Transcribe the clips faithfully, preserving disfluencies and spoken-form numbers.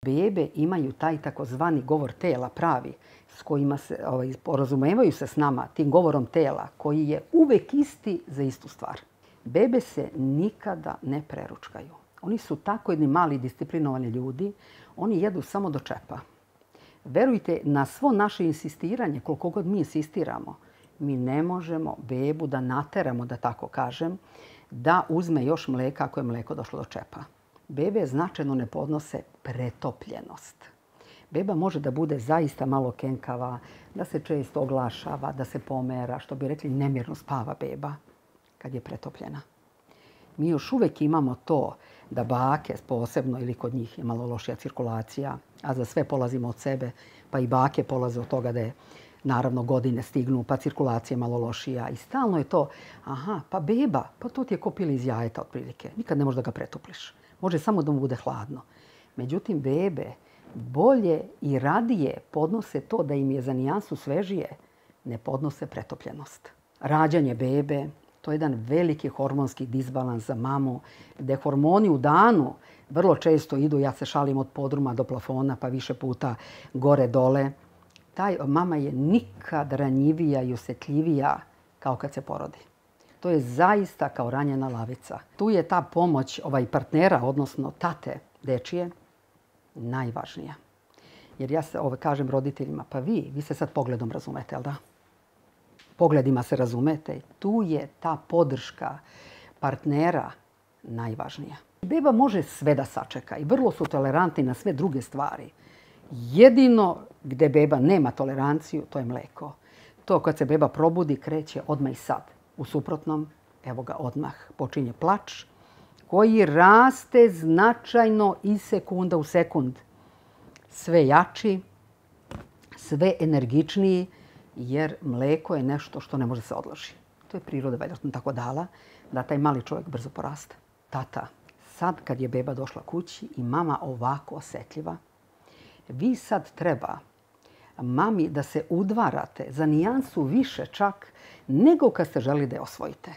Bebe imaju taj takozvani govor tela pravi, s kojima se ovaj, porazumevaju se s nama, tim govorom tela, koji je uvek isti za istu stvar. Bebe se nikada ne preručkaju. Oni su tako jedni mali disciplinovani ljudi, oni jedu samo do čepa. Verujte, na svo naše insistiranje, koliko god mi insistiramo, mi ne možemo bebu da nateramo, da tako kažem, da uzme još mleka ako je mleko došlo do čepa. Bebe značajno ne podnose pretopljenost. Beba može da bude zaista malo kenkava, da se često oglašava, da se pomera, što bi rekli nemirno spava beba kad je pretopljena. Mi još uvek imamo to da bake, posebno ili kod njih je malo lošija cirkulacija, a za sve polazimo od sebe, pa i bake polaze od toga da je naravno godine stignu, pa cirkulacija je malo lošija. I stalno je to, aha, pa beba, pa to ti je ko pili iz jajeta otprilike. Nikad ne možeš da ga pretopliš. Može samo da mu bude hladno. Međutim, bebe bolje i radije podnose to da im je za nijansu svežije, ne podnose pretopljenost. Rađanje bebe, to je jedan veliki hormonski disbalans za mamu, gde hormoni u danu vrlo često idu, ja se šalim od podruma do plafona, pa više puta gore-dole. Taj mama je nikad ranjivija i osjetljivija kao kad se porodi. To je zaista kao ranjena lavica. Tu je ta pomoć ovaj partnera, odnosno tate dečije, najvažnija. Jer ja se ovaj, kažem roditeljima, pa vi, vi se sad pogledom razumete, jel da? Pogledima se razumete. Tu je ta podrška partnera najvažnija. Beba može sve da sačeka i vrlo su tolerantni na sve druge stvari. Jedino gde beba nema toleranciju, to je mleko. To kad se beba probudi, kreće odmah i sad. U suprotnom, evo ga odmah, počinje plač koji raste značajno iz sekunda u sekund. Sve jači, sve energičniji, jer mleko je nešto što ne može se odloži. To je priroda vjerojatno tako dala, da taj mali čovjek brzo poraste. Tata, sad kad je beba došla kući i mama ovako osjetljiva, vi sad treba mami da se udvarate za nijansu više čak nego kad ste želi da je osvojite.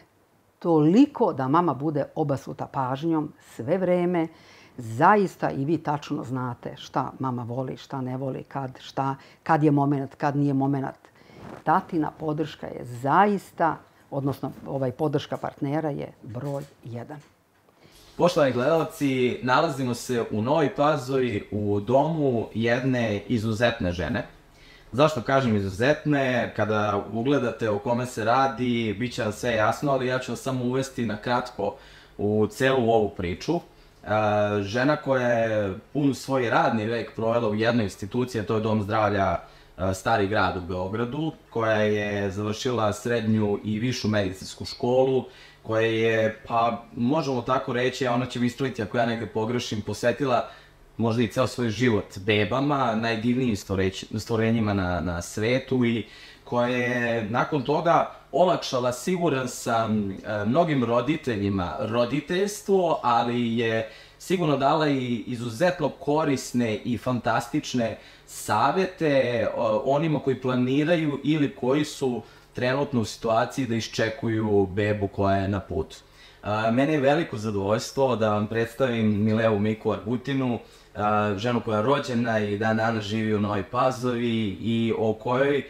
Toliko da mama bude obasuta pažnjom sve vreme, zaista i vi tačno znate šta mama voli, šta ne voli, kad, šta, kad je moment, kad nije moment. Tatina podrška je zaista, odnosno ovaj podrška partnera je broj jedan. Poštovani gledalci, nalazimo se u Novoj Pazovi u domu jedne izuzetne žene. Zašto kažem izuzetne? Kada ugledate o kome se radi, bit će vam sve jasno, ali ja ću vas samo uvesti na kratko u celu ovu priču. Žena koja je pun svoj radni vek provela u jednoj instituciji, a to je Dom zdravlja Stari grad u Beogradu, koja je završila srednju i višu medicinsku školu, koja je, pa možemo tako reći, a ona će mi ispraviti ako ja negde pogrešim, posvetila možda i ceo svoj život bebama, najdivnijim stvorenjima na, na svetu i koja je nakon toga olakšala, siguran sam, mnogim roditeljima roditeljstvo, ali je sigurno dala i izuzetno korisne i fantastične savete onima koji planiraju ili koji su trenutno u situaciji da iščekuju bebu koja je na putu. Mene je veliko zadovoljstvo da vam predstavim Mileu Miku Arbutinu, ženu koja je rođena i dan danas živi u Novoj Pazovi i o kojoj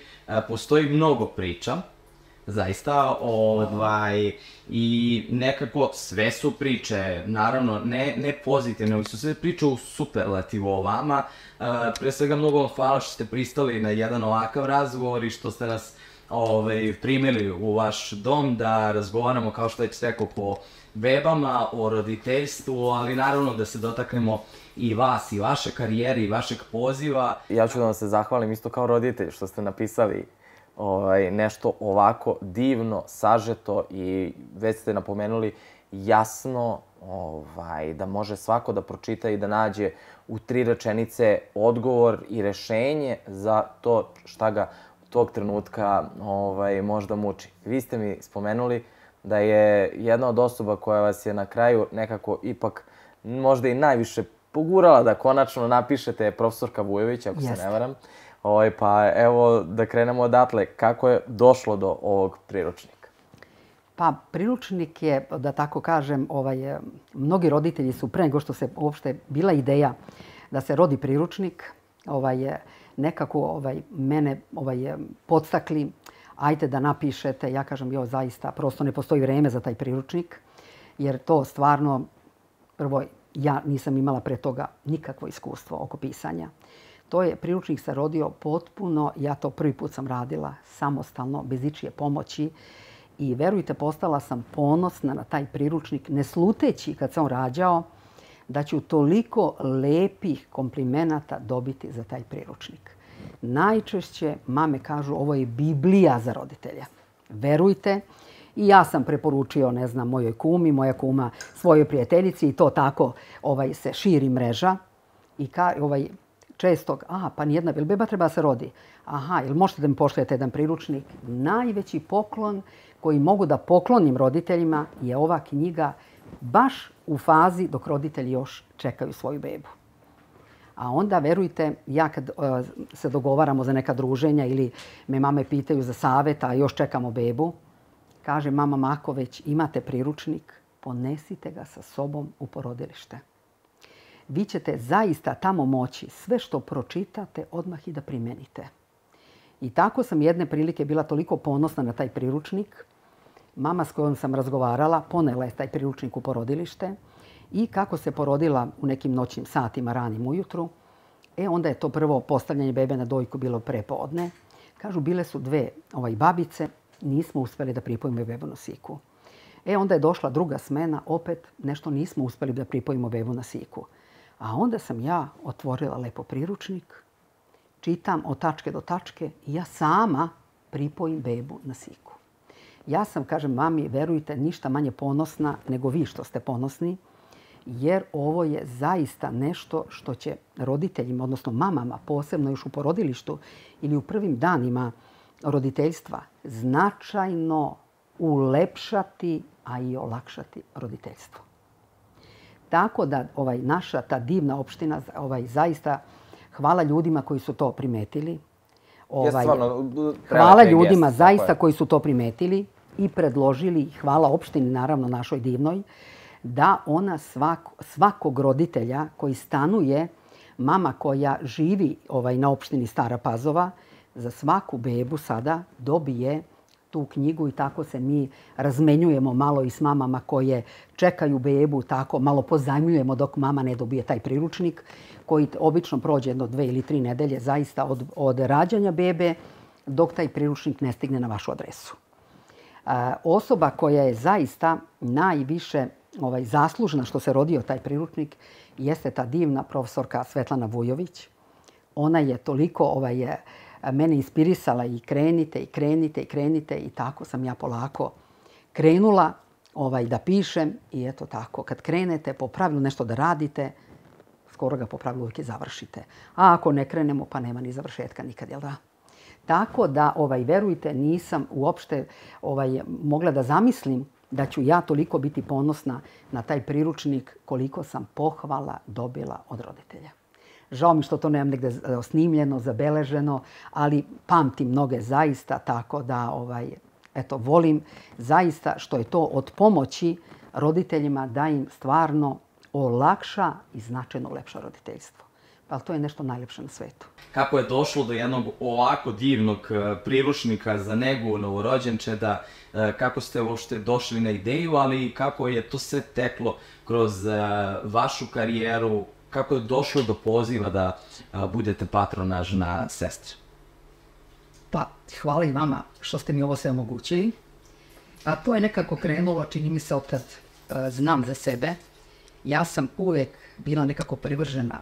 postoji mnogo priča. Zaista, ovaj, i nekako sve su priče, naravno, ne, ne pozitivne, ali su sve priče u superlativu o vama. Pre svega mnogo vam hvala što ste pristali na jedan ovakav razgovor i što ste nas ovaj, primili u vaš dom da razgovaramo, kao što već rekao, po bebama, o roditeljstvu, ali naravno da se dotaknemo i vas, i vaše karijere, i vašeg poziva. Ja ću da vam se zahvalim isto kao roditelj što ste napisali ovaj, nešto ovako divno, sažeto i već ste napomenuli jasno ovaj, da može svako da pročita i da nađe u tri rečenice odgovor i rešenje za to šta ga tog trenutka ovaj, možda muči. Vi ste mi spomenuli da je jedna od osoba koja vas je na kraju nekako ipak možda i najviše pogurala da konačno napišete profesorka Vujović, ako se ne varam. Ovaj, pa evo da krenemo odatle. Kako je došlo do ovog priručnika? Pa priručnik je, da tako kažem, ovaj, mnogi roditelji su pre nego što se uopšte bila ideja da se rodi priručnik, ovaj, nekako ovaj, mene ovaj, podstakli, ajte da napišete, ja kažem, jo, zaista, prosto ne postoji vreme za taj priručnik, jer to stvarno, prvo, ja nisam imala pre toga nikakvo iskustvo oko pisanja. To je, priručnik se rodio potpuno, ja to prvi put sam radila, samostalno, bez ičije pomoći. I verujte, postala sam ponosna na taj priručnik, ne sluteći kad sam rađao, da ću toliko lepih komplimenata dobiti za taj priručnik. Najčešće mame kažu, ovo je Biblija za roditelja. Verujte. I ja sam preporučio, ne znam, mojoj kumi, moja kuma svojoj prijateljici i to tako ovaj, se širi mreža. I ka, ovaj, često, aha, pa nijedna, jel beba treba se rodi? Aha, jel možete da mi pošaljete jedan priručnik? Najveći poklon koji mogu da poklonim roditeljima je ova knjiga baš u fazi dok roditelji još čekaju svoju bebu. A onda, verujte, ja kad uh, se dogovaramo za neka druženja ili me mame pitaju za savjet, a još čekamo bebu, kaže mama Mako, već imate priručnik, ponesite ga sa sobom u porodilište. Vi ćete zaista tamo moći sve što pročitate odmah i da primenite. I tako sam jedne prilike bila toliko ponosna na taj priručnik. Mama s kojom sam razgovarala ponela je taj priručnik u porodilište i kako se porodila u nekim noćnim satima ranim ujutru, e onda je to prvo postavljanje bebe na dojku bilo prepodne. Kažu, bile su dve ovaj, babice, nismo uspjeli da pripojimo bebu na siku. E onda je došla druga smena, opet nešto nismo uspjeli da pripojimo bebu na siku. A onda sam ja otvorila lepo priručnik, čitam od tačke do tačke i ja sama pripojim bebu na siku. Ja sam, kažem mami, verujte, ništa manje ponosna nego vi što ste ponosni, jer ovo je zaista nešto što će roditeljima, odnosno mamama, posebno još u porodilištu ili u prvim danima roditeljstva, značajno ulepšati, a i olakšati roditeljstvo. Tako da ovaj, naša ta divna opština, ovaj, zaista hvala ljudima koji su to primetili. Ovaj, stvarno, hvala ljudima jest, zaista koji su to primetili i predložili, hvala opštini, naravno našoj divnoj, da ona svako, svakog roditelja koji stanuje, mama koja živi ovaj, na opštini Stara Pazova, za svaku bebu sada dobije tu knjigu i tako se mi razmenjujemo malo i s mamama koje čekaju bebu, tako malo pozajmljujemo dok mama ne dobije taj priručnik koji obično prođe jedno dve ili tri nedelje zaista od, od rađanja bebe dok taj priručnik ne stigne na vašu adresu. A, osoba koja je zaista najviše ovaj, zaslužna što se rodio taj priručnik jeste ta divna profesorka Svetlana Vujović. Ona je toliko ovaj, je, mene inspirisala i krenite, i krenite, i krenite i tako sam ja polako krenula ovaj, da pišem i eto tako. Kad krenete po pravilu nešto da radite, skoro ga po pravilu uvijek i završite. A ako ne krenemo, pa nema ni završetka nikad, jel da? Tako da, ovaj, verujte, nisam uopšte ovaj, mogla da zamislim da ću ja toliko biti ponosna na taj priručnik koliko sam pohvala dobila od roditelja. Žao mi što to nemam negde snimljeno, zabeleženo, ali pamtim mnoge zaista tako da ovaj, eto, volim zaista što je to od pomoći roditeljima da im stvarno olakša i značajno ulepša roditeljstvo. Pa to je nešto najlepše na svetu. Kako je došlo do jednog ovako divnog priručnika za negu novorođenčeda, kako ste uopšte došli na ideju, ali i kako je to sve teklo kroz vašu karijeru, kako je došlo do poziva da budete patronažna sestra? Pa, hvala i vama što ste mi ovo sve omogućili. A to je nekako krenulo, čini mi se, od kad znam za sebe. Ja sam uvek bila nekako privržena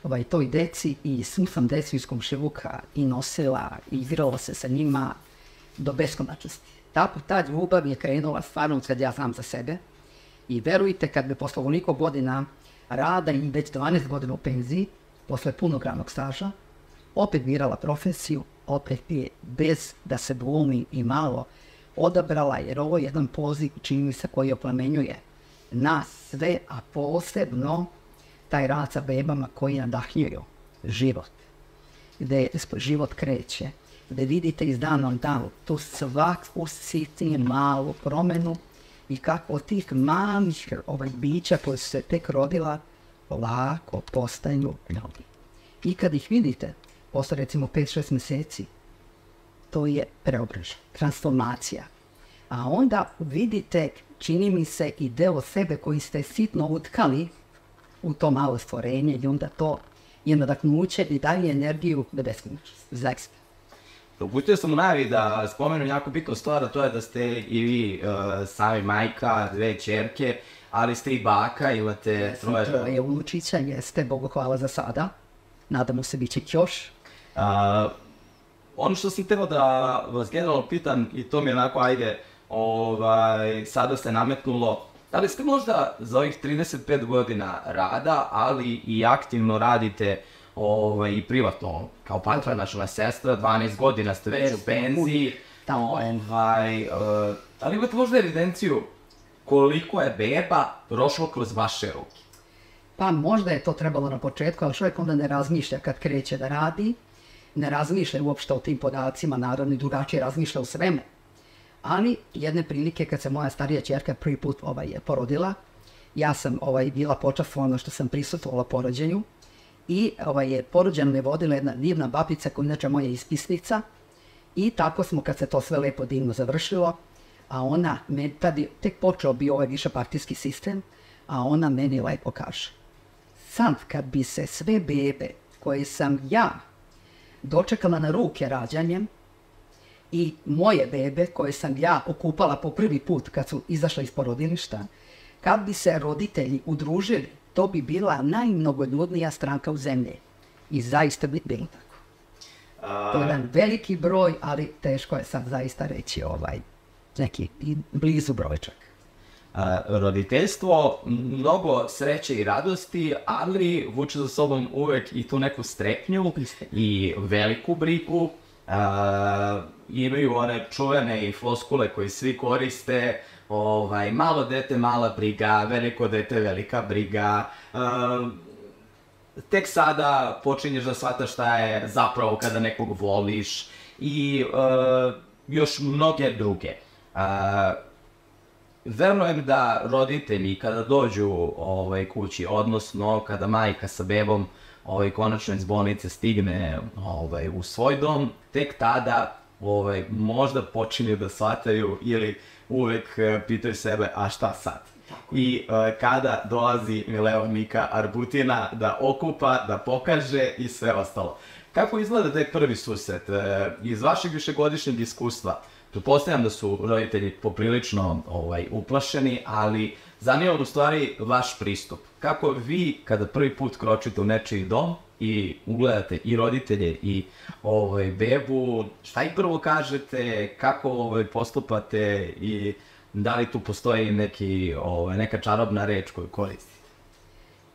ovaj, toj deci i svu sam decu iz komšiluka i nosila i igrala se sa njima do beskonačnosti. Tako ta ljubav je krenula stvarno kad ja znam za sebe. I verujte, kad me posle ovoliko godina rada i već dvanaest godina u penziji, posle punog radnog staža, opet birala profesiju, opet je bez da se glumi i malo odabrala, jer ovo je jedan poziv, čini mi se, koji oplemenjuje nas sve, a posebno taj rad sa bebama koji nadahnjuju život, gde život kreće, gde vidite iz dana u danu tu svaku sitniju malu promenu i kako od tih malih ovaj, bića koje su se tek rodila, polako postaju ljudi. I kad ih vidite, posle recimo pet šest mjeseci, to je preobražaj, transformacija. A onda vidite, čini mi se, i deo sebe koji ste sitno utkali u to malo stvorenje i onda to je nadahnuće i daje energiju da beskonačnost. Zaista. Uputio sam u najavi da spomenu jako bitnu stvar, a to je da ste i vi uh, sami majka, dve ćerke, ali ste i baka, imate troje... Troje unučića, jeste, Bogu hvala za sada. Nadamo se bit će još. Uh, ono što sam htio da vas generalno pitam, i to mi je onako, ajde, ovaj, sada se nametnulo, da li ste možda za ovih trideset pet godina rada, ali i aktivno radite ovaj, i privatno, kao patronačna sestra, dvanaest godina ste već u penziji, ovaj, uh, da li imate možda evidenciju koliko je beba prošlo kroz vaše ruke? Pa možda je to trebalo na početku, ali čovjek onda ne razmišlja kad kreće da radi, ne razmišlja uopšte o tim podacima, naravno i drugačije razmišlja o svemu. Ali jedne prilike kad se moja starija ćerka prvi put ovaj, je porodila, ja sam ovaj, bila počastvovana što sam prisustvovala porođenju i ovaj, je porođenu me vodila jedna divna babica koja je inače moja ispisnica i tako smo kad se to sve lepo divno završilo, a ona, me, tad je tek počeo bio ovaj višepartijski sistem, a ona meni lepo kaže, sad kad bi se sve bebe koje sam ja dočekala na ruke rađanjem i moje bebe koje sam ja okupala po prvi put kad su izašle iz porodilišta, kad bi se roditelji udružili, to bi bila najmnogoljudnija stranka u zemlji. I zaista bi bilo tako. To je jedan veliki broj, ali teško je sad zaista reći ovaj, neki blizu brojčak. Uh, roditeljstvo, mnogo sreće i radosti, ali vuče za sobom uvek i tu neku strepnju i veliku brigu. Uh, imaju one čuvene i floskule koje svi koriste, ovaj, malo dete, mala briga, veliko dete, velika briga. Uh, tek sada počinješ da shvataš šta je zapravo kada nekog voliš i uh, još mnoge druge. Uh, Verujem da roditelji kada dođu ovaj, kući, odnosno kada majka sa bebom ovaj, konačno iz bolnice stigne ovaj, u svoj dom, tek tada ovaj, možda počinju da shvataju ili uvek eh, pitaju sebe, a šta sad? I eh, kada dolazi Mileonika Arbutina da okupa, da pokaže i sve ostalo. Kako izgleda taj prvi susret? Eh, iz vašeg višegodišnjeg iskustva, pretpostavljam da su roditelji poprilično ovaj, uplašeni, ali zanima u stvari vaš pristup. Kako vi, kada prvi put kročite u nečiji dom i ugledate i roditelje i ovaj, bebu, šta ih prvo kažete, kako ovaj, postupate i da li tu postoji neki, ovaj, neka čarobna reč koju koristite?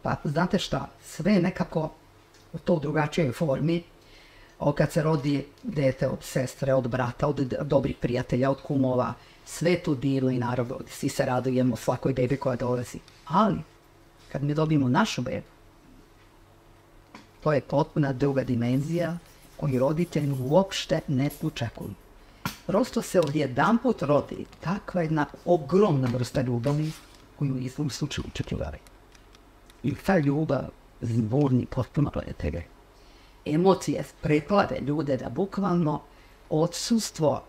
Pa, znate šta, sve je nekako u to drugačijoj formi. O, kad se rodi dete od sestre, od brata, od dobrih prijatelja, od kumova, sve tu divno i naravno, svi se radujemo svakoj bebi koja dolazi. Ali, kad mi dobijemo našu bebu, to je potpuna druga dimenzija koju roditelji uopšte ne očekuju. Prosto se odjedanput rodi takva jedna ogromna vrsta ljubavi koju nismo u slučaju očekivali. I ta ljubav zburni potpuno gledatelje. Emocije preklade ljude da bukvalno odsustvo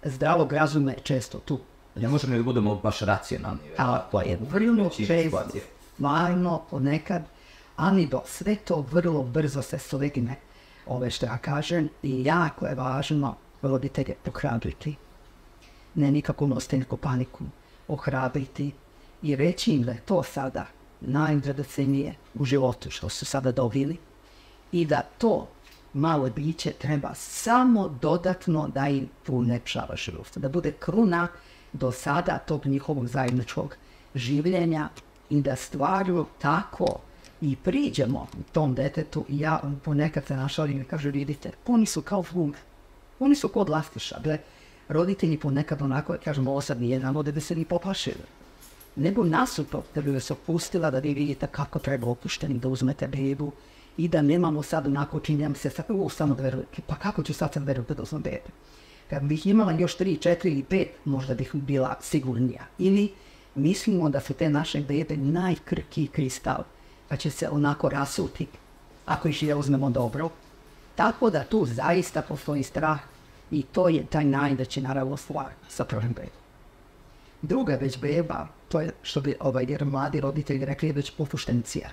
zdravog razuma je često tu. Ne možemo da budemo baš racionalni. A to je vrlo često, stvarno, ponekad, ali do sve to vrlo brzo se slegne. Ove što ja kažem, i jako je važno roditelje ohrabriti. Ne nikako nositi neku paniku, ohrabriti i reći im da je to sada najdragocenije u životu što su sada dobili. I da to malo biće treba samo dodatno da im ulepšava život. Da bude kruna do sada tog njihovog zajedničkog življenja i da stvarju tako i priđemo tom detetu. I ja ponekad se našalim i kažu, vidite, oni su kao flume, oni su kod lastiša. Gle, roditelji ponekad onako, kažemo, ovo sad nije navode da se ni poplašili. Nego nasuprot da bi vas opustila da vi vidite kako treba opušteni da uzmete bebu i da nemamo sad onako činjam se sad, u, samo da verujem, pa kako ću sad sam verujem da uzmem bebe? Kad bih imala još tri, četiri ili pet, možda bih bila sigurnija. Ili mislimo da su te naše bebe najkrkiji kristal, pa će se onako rasuti, ako ih je uzmemo dobro. Tako da tu zaista postoji strah i to je taj najveći naravno stvar sa prvim bebom. Druga već beba, to je što bi ovaj, jer mladi roditelji rekli, je već popuštencija.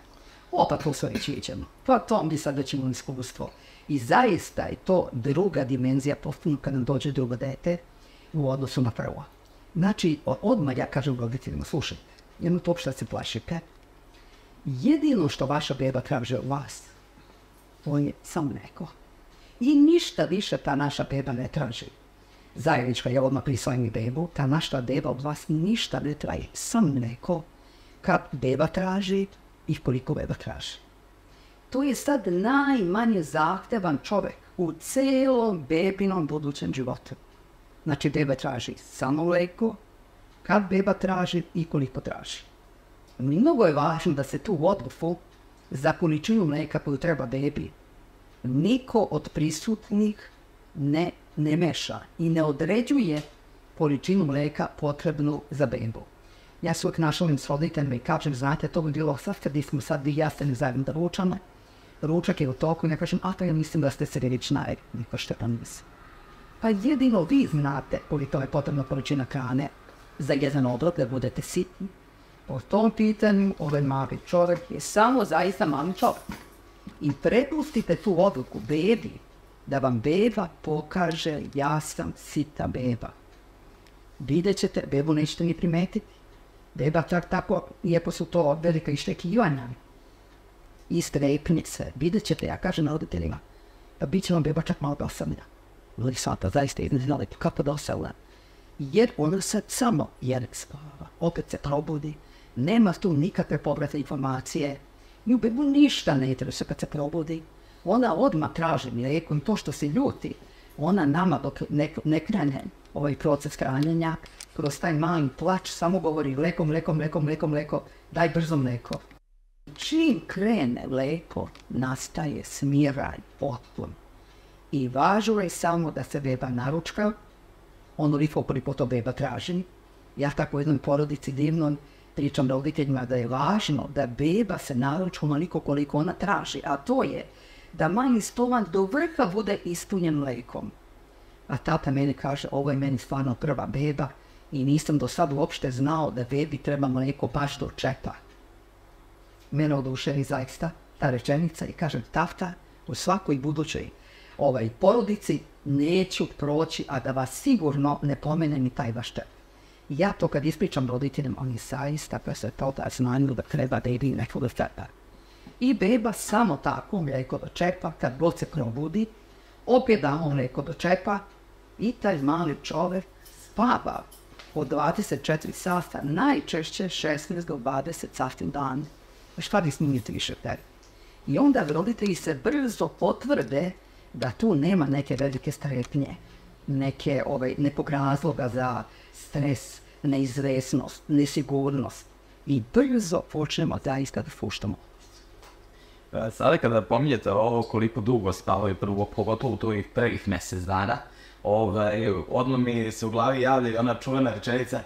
Opa, to sve već iđemo. Pa to mi sad već imamo iskustvo. I zaista je to druga dimenzija potpuno kad nam dođe drugo dete u odnosu na prvo. Znači, odmah ja kažem roditeljima, slušajte, jedno to što se plašite, jedino što vaša beba traže od vas, to je samo neko. I ništa više ta naša beba ne traži. Zajednička je odmah prisvojim bebu, ta naša beba od vas ništa ne traži, samo neko kad beba traži i koliko beba traži. To je sad najmanje zahtevan čovjek u celom bebinom budućem životu. Znači, beba traži samo mleko, kad beba traži i koliko traži. Mnogo je važno da se tu odluku za količinu mleka koju treba bebi niko od prisutnih ne, ne meša i ne određuje količinu mleka potrebnu za bebu. Ja se uvijek našalim s roditeljima i kažem, znate, to bi bilo sad kad smo sad i ja ste ne zajedno da ručamo. Ručak je u toku i ne kažem, a to ja mislim da ste se već najedli, niko što pa mislim. Pa jedino vi znate koliko je potrebna količina hrane za jedan obrok da budete sitni. Po tom pitanju, ovaj mali čovjek je samo zaista mali čovjek. I prepustite tu odluku bebi, da vam beba pokaže ja sam sita beba. Vidjet ćete, bebu nećete ni primetiti. Beba tak tako, iako su to velika iščekivanja i strepnice, vidjet ćete, ja kažem roditeljima, da bit će vam beba čak malo dosadna. Ali sada, zaista ne znali kako dosadna. Jer ona sad samo jer spava, opet se probudi, nema tu nikakve povratne informacije, nju bebu ništa ne interesuje kad se probudi. Ona odmah traži mlijeko i to što se ljuti, ona nama dok ne, ne krene ovaj proces hranjenja, kroz taj mali plač samo govori mleko, mleko, mleko, mleko, mleko, daj brzo mleko. Čim krene mleko, nastaje smiraj potpun. I važno je samo da se beba naručka, onoliko koliko to beba traži. Ja tako u jednoj porodici divnom pričam roditeljima da je važno da beba se naručka onoliko koliko ona traži, a to je da manji stomak do vrha bude ispunjen mlekom. A tata meni kaže, ovo je meni stvarno prva beba i nisam do sad uopšte znao da bebi treba mleko baš do čepa. Mene oduševi zaista ta rečenica i kažem, tata, u svakoj budućoj ovaj porodici neću proći, a da vas sigurno ne pomene ni taj vaš čep. Ja to kad ispričam roditeljima, oni zaista pa se to da znanju da treba bebi neko do čepa. I beba samo tako mlijeko do čepa, kad god se probudi, opet damo mlijeko do čepa i taj mali čovjek spava od dvadeset četiri sata, najčešće šesnaest do dvadeset sati u dan. Šta bi snimiti više tebe? I onda roditelji se brzo potvrde da tu nema neke velike strepnje, neke ovaj, nekog razloga za stres, neizvesnost, nesigurnost. I brzo počnemo zaista da fuštamo. Sada kada pominjete ovo koliko dugo spavaju prvo, pogotovo u tih prvih mjesec dana, ovaj, odmah mi se u glavi javlja i ona čuvena rečenica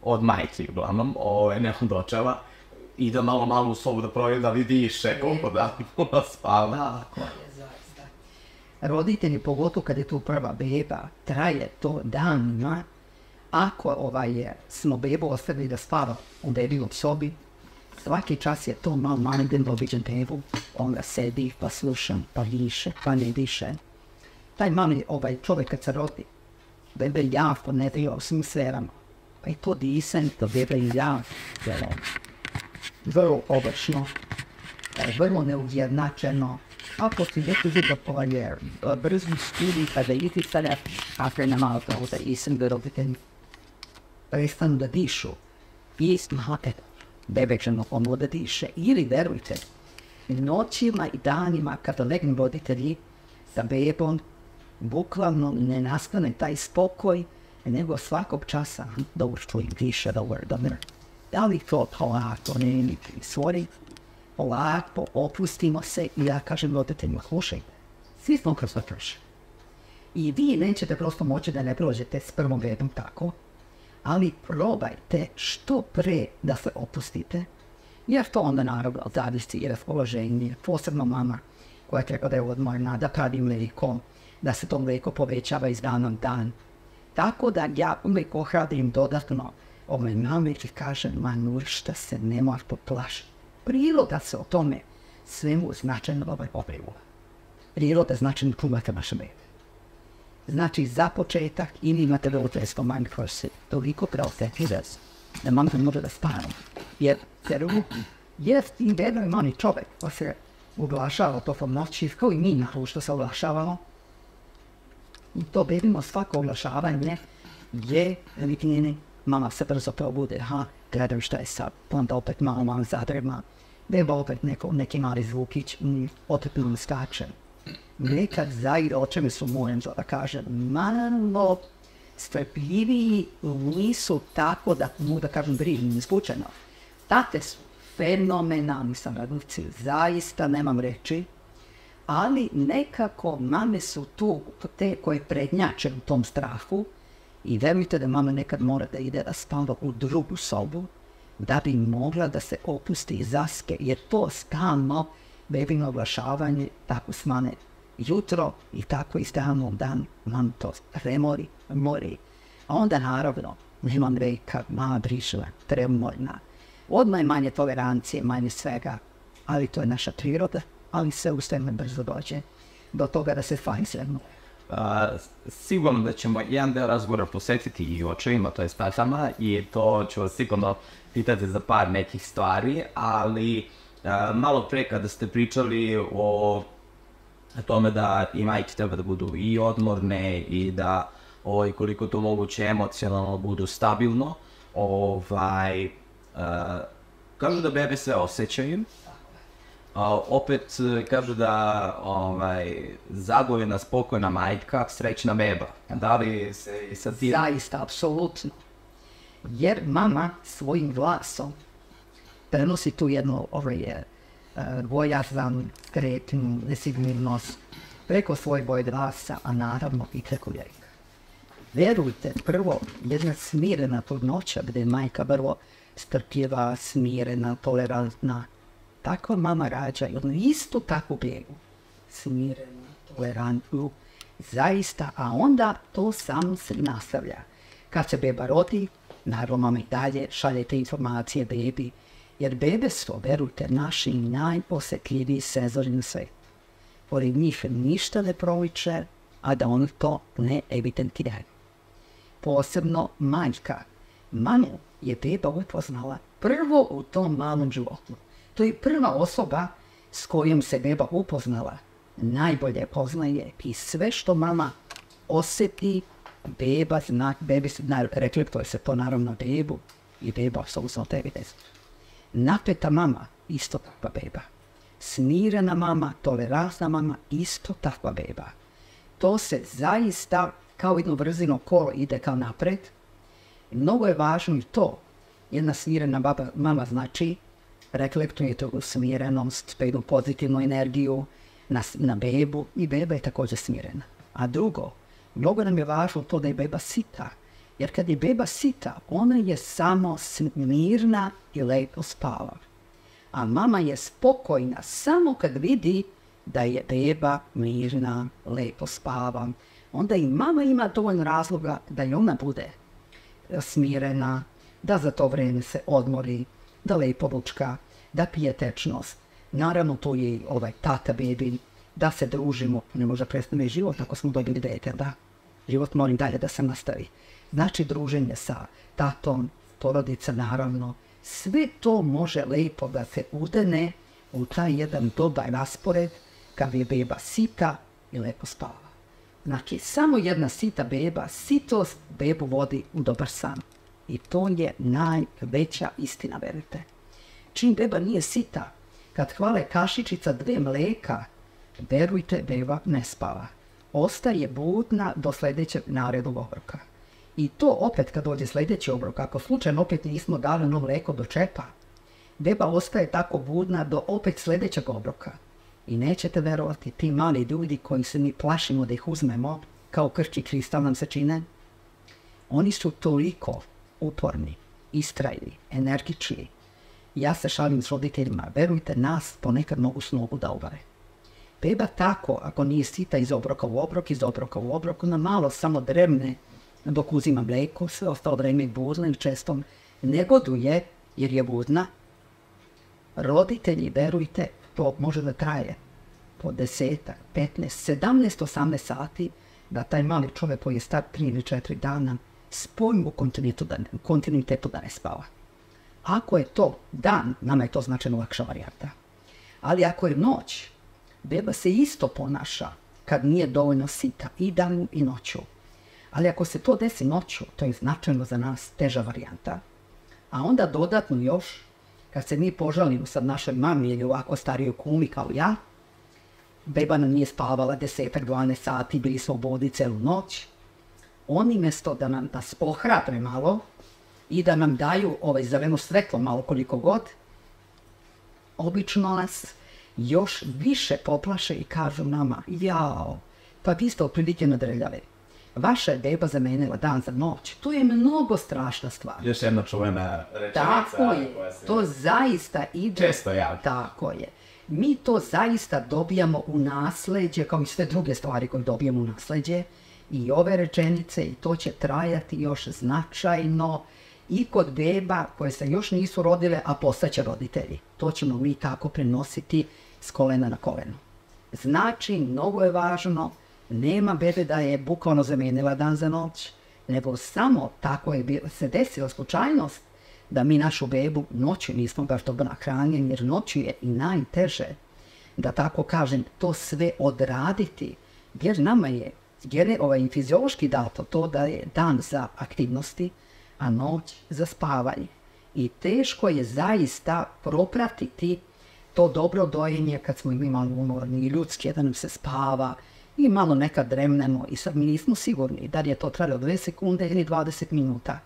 od majke uglavnom, ovaj, ne od očeva, i da malo malo u sobu da provjeri da li diše, koliko da puno spava. Tako je, zaista. Roditelji, pogotovo kad je tu prva beba, traje to danima. Ako ovaj, smo bebu ostavili da spava u bebinom sobi, svaki čas je to malo manjden običan bebu, onda sedi pa slušam, pa diše, pa ne diše. Taj mali ovaj, čovjek kad se rodi, bebe jako ne daje u svim sferama, pa i to disanje, to bebe jako delo. Vrlo obršno, vrlo neujednačeno. Ako si neki zida polajer, brzo studi kada iti sada, kako je na malo to da isam da roditelji prestanu da dišu. I smate, bebe će ono da diše. Ili verujte, noćima i danima kada legnu roditelji sa bebom, bukvalno ne nastane taj spokoj, nego svakog časa dobro čujem diše, dobro, dobro. Da li to polako ne imiti svori, polako opustimo se i ja kažem roditeljima, slušajte, svi smo kroz to prošli. I vi nećete prosto moći da ne prođete s prvom bebom tako, ali probajte što pre da se opustite, Jer to onda naravno zavisi i raspoloženje, posebno mama koja treba da je odmorna, da pravi mlijeko, da se to mlijeko povećava iz dana u dan. Tako da ja uvijek ohrabrim dodatno ove mame i kažem, Manušta se ne mora poplašiti. Priroda se o tome svemu značajno ovaj obrivula. Priroda značajno čuvate vaše bebe. Znači, za početak ili imate roditeljsko manj koje se toliko preosjetljive da mama ne može da spane. Jer, jer jest i jedan mani čovjek ko se uglašava tokom noći, kao i mi na što se uglašavamo. I to bebimo svako oglašavanje je viknjeni, mama se brzo probude, ha, gledam šta je sad, onda opet malo malo zadrema, beba opet neko, neki mali zvukić, mm, opet mi skače. Nekad zaire, o čemu su mojem da kažem, malo strpljiviji nisu tako da mogu da kažem brižni, slučajno. Tate su fenomenalni saradnici, zaista nemam reći, ali nekako mame su tu te koje prednjače u tom strahu i verujte da mama nekad mora da ide da spava u drugu sobu da bi mogla da se opusti i zaske, jer to stalno bebino oglašavanje tako smane jutro i tako i stalno u dan nam to premori, mori. A onda naravno nemam reka, mama brišla, tremorna. Odmah je manje tolerancije, manje svega, ali to je naša priroda, ali sve u sveme brzo dođe do toga da se fajn sredno. Uh, sigurno da ćemo jedan deo razgovora posvetiti i očevima, to je s tatama, i to ću vas sigurno pitati za par nekih stvari, ali uh, malo pre kada ste pričali o tome da i majke treba da budu i odmorne i da ovaj, koliko to moguće emocionalno budu stabilno, ovaj, uh, kažu da bebe sve osjećaju. Uh, opet kažu da ovaj, zadovoljna, spokojna majka, srećna beba. Da li se i sad ti... Zaista, apsolutno. Jer mama svojim glasom prenosi tu jednu ovaj, uh, bojazan, skretnu, nesigurnost preko svoje boje glasa, a naravno i preko jajka. Verujte, prvo, jedna smirena trudnoća gdje je majka vrlo strpljiva, smirena, tolerantna. Tako mama rađa jednu istu takvu bebu, smirenu, tolerantnu, zaista, a onda to samo se nastavlja. Kad se beba rodi, naravno mama i dalje šalje te informacije bebi, jer bebe su, verujte, naši najposjetljiviji senzori na svijetu. Pored njih ništa ne proviče, a da on to ne evidentiraju. Posebno majka. Mamu je beba upoznala prvo u tom malom životu. To je prva osoba s kojom se beba upoznala. Najbolje poznaje i sve što mama osjeti, beba zna, bebi zna, reflektuje se to naravno bebu i beba apsolutno devedeset. Napeta mama, isto takva beba. Smirena mama, tolerantna mama, isto takva beba. To se zaista kao jedno brzino kolo ide kao napred. Mnogo je važno i to. Jedna smirena baba, mama znači reflektuje tu smirenost, pa jednu pozitivnu energiju na, na bebu i beba je također smirena. A drugo, mnogo nam je važno to da je beba sita. Jer kad je beba sita, ona je samo mirna i lepo spava. A mama je spokojna samo kad vidi da je beba mirna, lepo spava. Onda i mama ima dovoljno razloga da i ona bude smirena, da za to vreme se odmori, da lepo ručka, da pije tečnost. Naravno, to je ovaj tata bebi, da se družimo, ne može prestane život ako smo dobili dete, da. Život moram dalje da se nastavi. Znači, druženje sa tatom, porodica, naravno, sve to može lepo da se udene u taj jedan dobar raspored kad je beba sita i lepo spava. Znači, samo jedna sita beba, sitost bebu vodi u dobar san. I to je najveća istina, verujte. Čim beba nije sita, kad hvale kašičica dve mleka, verujte, beba ne spava. Ostaje budna do sljedećeg narednog obroka. I to opet kad dođe sljedeći obrok, ako slučajno opet nismo dali ono mleko do čepa, beba ostaje tako budna do opet sljedećeg obroka. I nećete verovati, ti mali ljudi koji se mi plašimo da ih uzmemo, kao krčki kristal nam se čine, oni su toliko uporni, istrajni, energični, Ja se šalim s roditeljima, verujte, nas ponekad mogu s nogu da uvare. Beba tako, ako nije sita iz obroka u obrok, iz obroka u obrok, ona malo samo dremne dok uzima mleko, sve ostalo vreme je budna i često negoduje jer je budna. Roditelji, verujte, to može da traje po desetak, petnaest, sedamnaest, osamnaest sati, da taj mali čovjek koji je star tri ili četiri dana spojim u kontinuitetu da ne spava. Ako je to dan, nama je to značajno lakša varijanta. Ali ako je noć, beba se isto ponaša kad nije dovoljno sita i danju i noću. Ali ako se to desi noću, to je značajno za nas teža varijanta. A onda dodatno još, kad se mi požalimo sad našoj mami ili ovako starijoj kumi kao ja, beba nam nije spavala desetak, dvanaest sati, bili smo u vodi celu noć, oni mjesto da nam nas pohrabre malo i da nam daju ovaj zeleno svetlo malo koliko god, obično nas još više poplaše i kažu nama, jao, pa vi ste otprilike nadrljave. Vaša je beba zamenila dan za noć. To je mnogo strašna stvar. Još jedna čuvena rečenica. Tako je, to zaista ide. Često ja. Tako je. Mi to zaista dobijamo u nasleđe, kao i sve druge stvari koje dobijamo u nasleđe. I ove rečenice, i to će trajati još značajno i kod beba koje se još nisu rodile, a postaće roditelji. To ćemo mi tako prenositi s kolena na koleno. Znači, mnogo je važno, nema bebe da je bukvalno zamenila dan za noć, nego samo tako je bilo, se desila slučajnost da mi našu bebu noću nismo baš dobro nahranjeni, jer noću je i najteže, da tako kažem, to sve odraditi, jer nama je, jer je ovaj fiziološki dato to da je dan za aktivnosti, a noć za spavanje. I teško je zaista propratiti to dobro dojenje kad smo mi malo umorni i ljudski, da nam se spava i malo nekad dremnemo i sad mi nismo sigurni da li je to trajalo dve sekunde ili dvadeset minuta.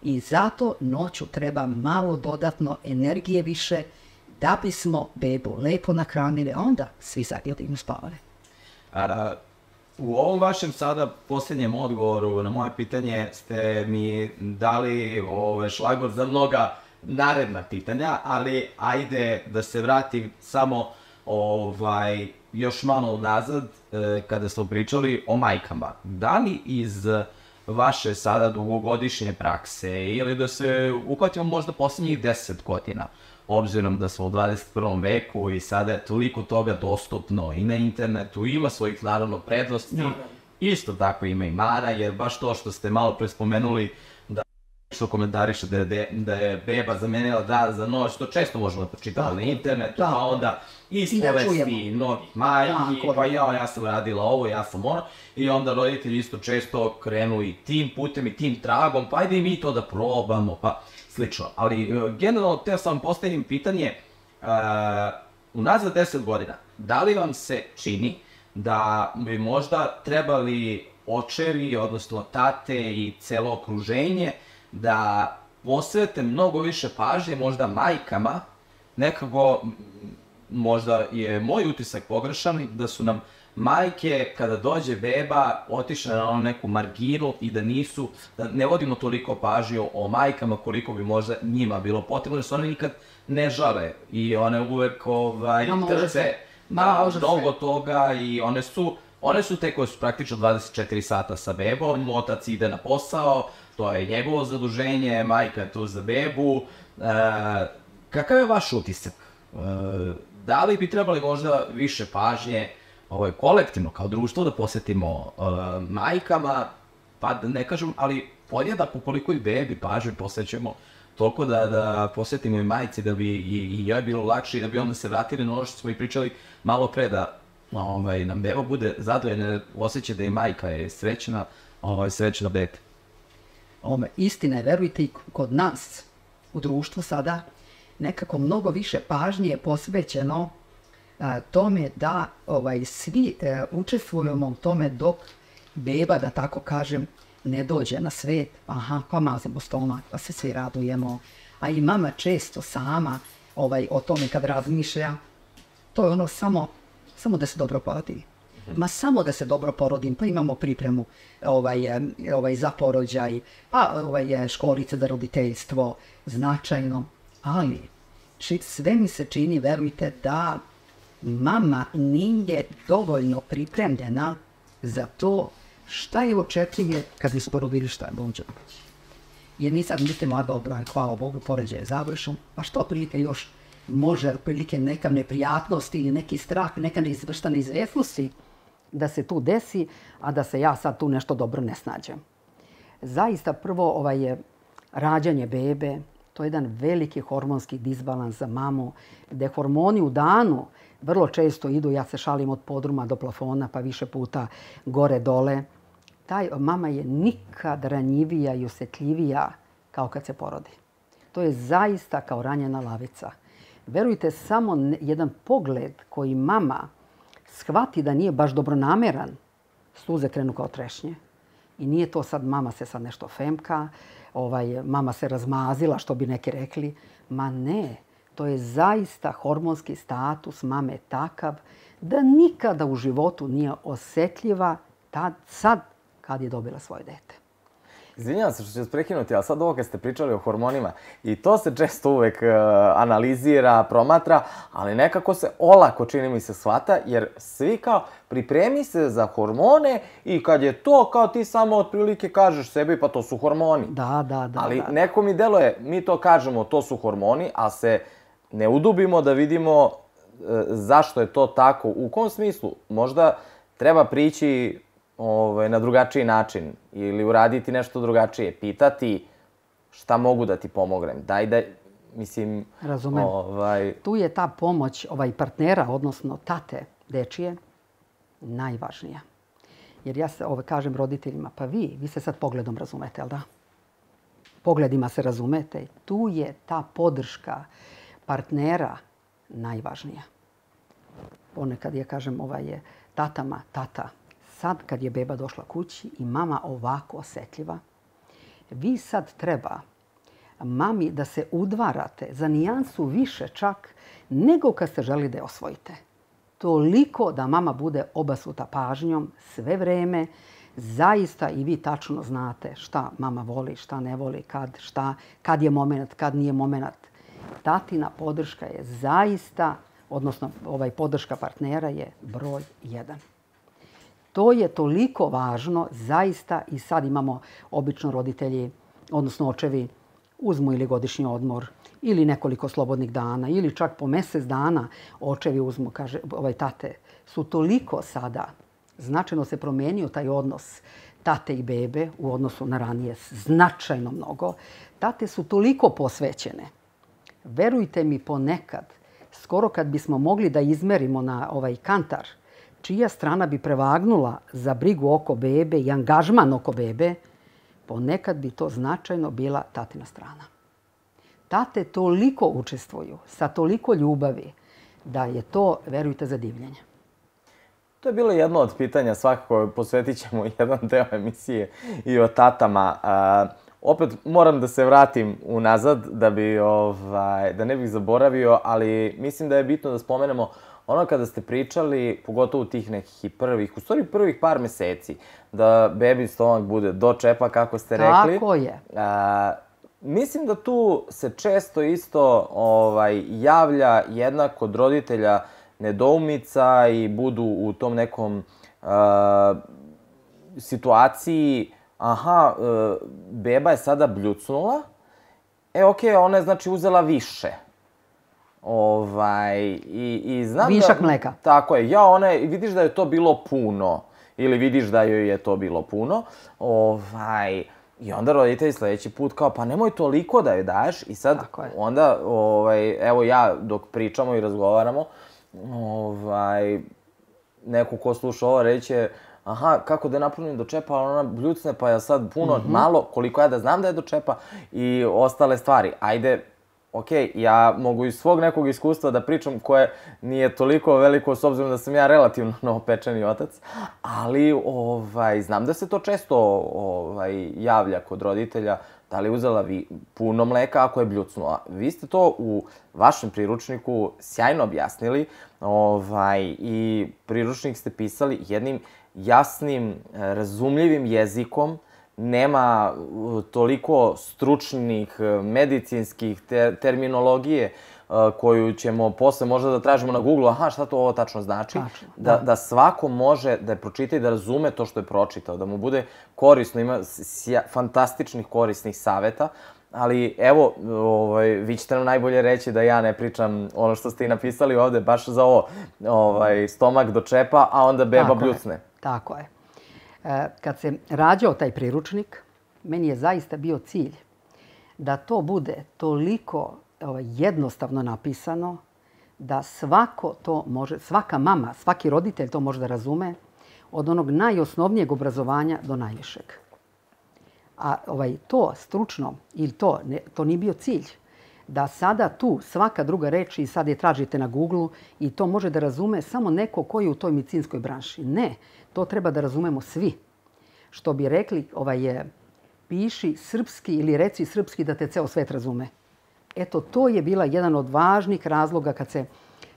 I zato noću treba malo dodatno energije više da bismo bebu lepo nahranili, a onda svi zajedno spavali. A, u ovom vašem sada posljednjem odgovoru na moje pitanje ste mi dali ovaj, šlagvort za mnoga naredna pitanja, ali ajde da se vratim samo ovaj, još malo nazad eh, kada smo pričali o majkama. Da li iz vaše sada dugogodišnje prakse ili da se uhvatimo možda posljednjih deset godina, obzirom da smo u dvadeset prvom veku i sada je toliko toga dostupno i na internetu, ima svojih naravno prednosti, no. Isto tako ima i mana, jer baš to što ste malo pre spomenuli da što komentariše da je, da je beba zamenila dan za noć, to često možemo počitati na internetu, pa onda ispovesti mnogih majki, pa ja, ja sam radila ovo, ja sam ono, i onda roditelji isto često krenu i tim putem i tim tragom, pa ajde i mi to da probamo, pa slično. Ali generalno, te sam postavim pitanje, uh, unazad deset godina, da li vam se čini da bi možda trebali očevi, odnosno tate i celo okruženje, da posvete mnogo više pažnje možda majkama, nekako, možda je moj utisak pogrešan, da su nam majke, kada dođe beba, otišle na neku marginu i da nisu, da ne vodimo toliko pažnju o majkama koliko bi možda njima bilo potrebno, jer su one nikad ne žale i one uvek ovaj, trpe mnogo toga i one su, one su te koje su praktično dvadeset četiri sata sa bebom, otac ide na posao, to je njegovo zaduženje, majka je tu za bebu. E, kakav je vaš utisak? E, da li bi trebali možda više pažnje ovaj, kolektivno kao društvo da posvetimo e, majkama, pa da ne kažem, ali podjednako koliko i bebi pažnje posvećujemo, toliko da, da posvetimo i majci da bi i, i joj bilo lakše i da bi onda se vratili na ono što smo i pričali malo pre, da ovaj, nam beba bude zadovoljna, osjeća da i majka je srećna, ovaj, srećna dete. Ome, istina je, verujte, i kod nas u društvu sada nekako mnogo više pažnje je posvećeno a, tome da ovaj, svi e, učestvujemo u tome dok beba, da tako kažem, ne dođe na svet. Aha, pa mazimo stomak, pa se svi radujemo. A i mama često sama ovaj, o tome kad razmišlja, to je ono samo, samo da se dobro porodi. Ma samo da se dobro porodim, pa imamo pripremu ovaj, ovaj, za porođaj, pa ovaj, školice za roditeljstvo, značajno. Ali Znači, sve mi se čini, verujte, da mama nije dovoljno pripremljena za to šta je očekuje kad isporodili šta je bonđa. Jer mi sad mislimo, a dobro, hvala Bogu, poređaj je završen, pa što prilike još može, prilike neka neprijatnost ili neki strah, neka neizvršta neizvjesnosti da se tu desi, a da se ja sad tu nešto dobro ne snađem. Zaista prvo ovaj je rađanje bebe, to je jedan veliki hormonski disbalans za mamu, gde hormoni u danu vrlo često idu, ja se šalim od podruma do plafona, pa više puta gore-dole. Taj mama je nikad ranjivija i osjetljivija kao kad se porodi. To je zaista kao ranjena lavica. Verujte, samo jedan pogled koji mama shvati da nije baš dobronameran, suze krenu kao trešnje. I nije to sad mama se sad nešto femka, ovaj, mama se razmazila, što bi neki rekli. Ma ne, to je zaista hormonski status mame takav da nikada u životu nije osjetljiva tad, sad kad je dobila svoje dete. Izvinjavam se što ću vas prekinuti, ali sad ovo kad ste pričali o hormonima, i to se često uvek uh, analizira, promatra, ali nekako se olako, čini mi se, shvata, jer svi kao pripremi se za hormone i kad je to, kao ti samo otprilike kažeš sebi, pa to su hormoni. Da, da, da. Ali da. neko mi deluje, mi to kažemo, to su hormoni, a se ne udubimo da vidimo uh, zašto je to tako. U kom smislu? Možda treba prići Ovaj, na drugačiji način ili uraditi nešto drugačije, pitati šta mogu da ti pomognem. Daj da, mislim... Razumem. Ovaj... Tu je ta pomoć ovaj, partnera, odnosno tate dečije, najvažnija. Jer ja se ovaj, kažem roditeljima, pa vi, vi se sad pogledom razumete, jel da? Pogledima se razumete. Tu je ta podrška partnera najvažnija. Ponekad ja kažem ovaj, je tatama, tata, sad kad je beba došla kući i mama ovako osjetljiva, vi sad treba mami da se udvarate za nijansu više čak nego kad ste želi da je osvojite. Toliko da mama bude obasuta pažnjom sve vreme, zaista i vi tačno znate šta mama voli, šta ne voli, kad, šta, kad je moment, kad nije moment. Tatina podrška je zaista, odnosno ovaj podrška partnera je broj jedan. To je toliko važno, zaista, i sad imamo obično roditelji, odnosno očevi, uzmu ili godišnji odmor, ili nekoliko slobodnih dana, ili čak po mjesec dana očevi uzmu, kaže, ovaj tate, su toliko sada, značajno se promijenio taj odnos tate i bebe u odnosu na ranije, značajno mnogo. Tate su toliko posvećene. Verujte mi, ponekad, skoro kad bismo mogli da izmerimo na ovaj kantar, čija strana bi prevagnula za brigu oko bebe i angažman oko bebe, ponekad bi to značajno bila tatina strana. Tate toliko učestvuju, sa toliko ljubavi, da je to, verujte, za divljenje. To je bilo jedno od pitanja, svakako posvetit ćemo jedan deo emisije i o tatama. A, opet moram da se vratim unazad da, bi, ovaj, da ne bih zaboravio, ali mislim da je bitno da spomenemo ono kada ste pričali, pogotovo tih nekih i prvih, u stvari prvih par meseci, da bebi stomak bude do čepa, kako ste rekli. Tako je. A, mislim da tu se često isto ovaj, javlja jedna kod roditelja nedoumica i budu u tom nekom a, situaciji, aha, a, beba je sada bljucnula, e okej, okay, ona je znači uzela više. Ovaj, i, i znam Višak da, mleka. Tako je. Ja, ona je, vidiš da je to bilo puno. Ili vidiš da joj je to bilo puno. Ovaj, I onda roditelji sljedeći put kao, pa nemoj toliko da joj daješ. I sad, onda, ovaj, evo ja, dok pričamo i razgovaramo, ovaj, neko ko sluša ovo reće, aha, kako da je napravim do čepa, ali ona bljucne, pa ja sad puno, mm-hmm. malo, koliko ja da znam da je do čepa i ostale stvari. Ajde, ok, ja mogu iz svog nekog iskustva da pričam koje nije toliko veliko s obzirom da sam ja relativno novopečeni otac, ali ovaj, znam da se to često ovaj, javlja kod roditelja, da li je uzela vi puno mleka ako je bljucnula. Vi ste to u vašem priručniku sjajno objasnili ovaj, i priručnik ste pisali jednim jasnim, razumljivim jezikom. Nema toliko stručnih, medicinskih ter- terminologije koju ćemo posle možda da tražimo na Google, aha, šta to ovo tačno znači, Tačno, da, da. da svako može da je pročita i da razume to što je pročitao, da mu bude korisno, ima sja- fantastičnih korisnih saveta, ali evo, ovaj, vi ćete nam najbolje reći da ja ne pričam ono što ste i napisali ovde, baš za ovo, ovaj, stomak do čepa, a onda beba Tako je, bljucne. Tako je. E, kad se rađao taj priručnik, meni je zaista bio cilj da to bude toliko ovaj, jednostavno napisano da svako to može, svaka mama, svaki roditelj to može da razume od onog najosnovnijeg obrazovanja do najvišeg. A ovaj, to stručno, ili to, ne, to nije bio cilj. Da sada tu svaka druga reč i sad je tražite na Google i to može da razume samo neko koji je u toj medicinskoj branši. Ne, to treba da razumemo svi. Što bi rekli, ovaj, je, piši srpski ili reci srpski da te ceo svet razume. Eto, to je bila jedan od važnih razloga kad se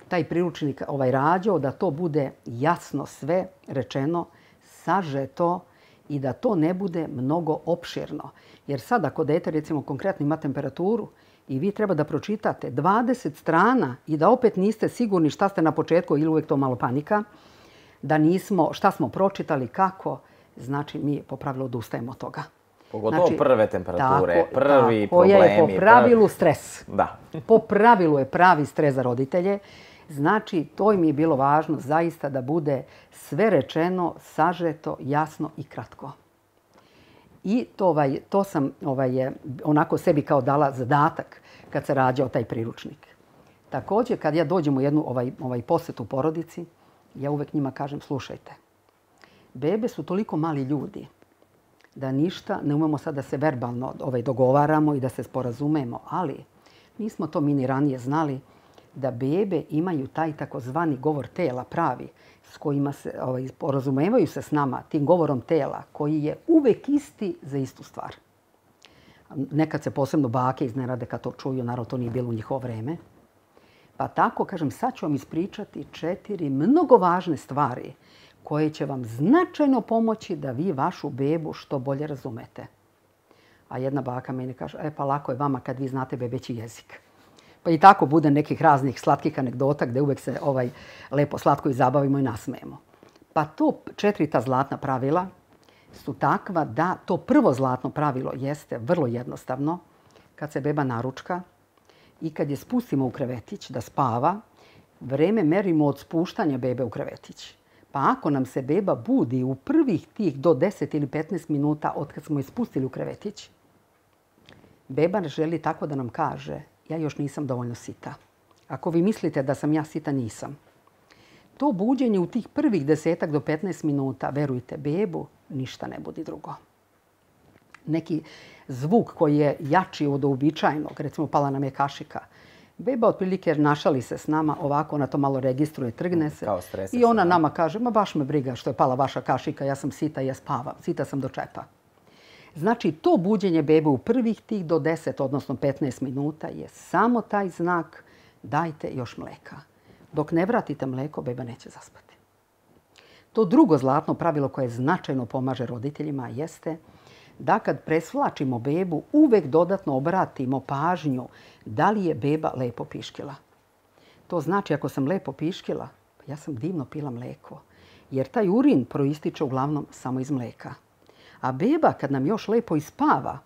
taj priručnik ovaj, rađao, da to bude jasno sve rečeno, sažeto i da to ne bude mnogo opširno. Jer sad ako dete, recimo, konkretno ima temperaturu i vi treba da pročitate dvadeset strana i da opet niste sigurni šta ste na početku ili uvek to malo panika, da nismo, šta smo pročitali, kako, znači mi po pravilu odustajemo od toga. Pogotovo Znači, prve temperature, tako, prvi tako problemi. je po pravilu stres. Da. Po pravilu je pravi stres za roditelje. Znači, to im je bilo važno zaista da bude sve rečeno, sažeto, jasno i kratko. I to, ovaj, to sam ovaj, onako sebi kao dala zadatak kad se rađao taj priručnik. Također, kad ja dođem u jednu ovaj, ovaj posjetu porodici, ja uvek njima kažem, slušajte, bebe su toliko mali ljudi da ništa ne umemo sad da se verbalno ovaj, dogovaramo i da se sporazumemo, ali nismo to mi ni ranije znali da bebe imaju taj takozvani govor tela pravi s kojima se ovaj, sporazumevaju se s nama tim govorom tela koji je uvek isti za istu stvar. Nekad se posebno bake iznenade kad to čuju, naravno to nije bilo u njihovo vreme. Pa tako, kažem, sad ću vam ispričati četiri mnogo važne stvari koje će vam značajno pomoći da vi vašu bebu što bolje razumete. A jedna baka meni kaže, e pa lako je vama kad vi znate bebeći jezik. Pa i tako bude nekih raznih slatkih anegdota gdje uvek se ovaj lepo slatko i zabavimo i nasmejemo. Pa to četiri ta zlatna pravila su takva da to prvo zlatno pravilo jeste vrlo jednostavno. Kad se beba naručka i kad je spustimo u krevetić da spava, vreme merimo od spuštanja bebe u krevetić. Pa ako nam se beba budi u prvih tih do deset ili petnaest minuta od kad smo je spustili u krevetić, beba želi tako da nam kaže, ja još nisam dovoljno sita. Ako vi mislite da sam ja sita, nisam. To buđenje u tih prvih desetak do petnaest minuta, verujte, bebu ništa ne budi drugo. Neki zvuk koji je jači od uobičajenog, recimo pala nam je kašika, beba otprilike našali se s nama, ovako ona to malo registruje, trgne se i ona nama kaže, ma baš me briga što je pala vaša kašika, ja sam sita, ja spavam, sita sam do čepa. Znači, to buđenje bebe u prvih tih do deset, odnosno petnaest minuta je samo taj znak dajte još mleka. Dok ne vratite mleko, beba neće zaspati. To drugo zlatno pravilo koje značajno pomaže roditeljima jeste da kad presvlačimo bebu, uvek dodatno obratimo pažnju da li je beba lepo piškila. To znači ako sam lepo piškila, ja sam divno pila mleko, jer taj urin proističe uglavnom samo iz mleka. A beba kad nam još lepo ispava,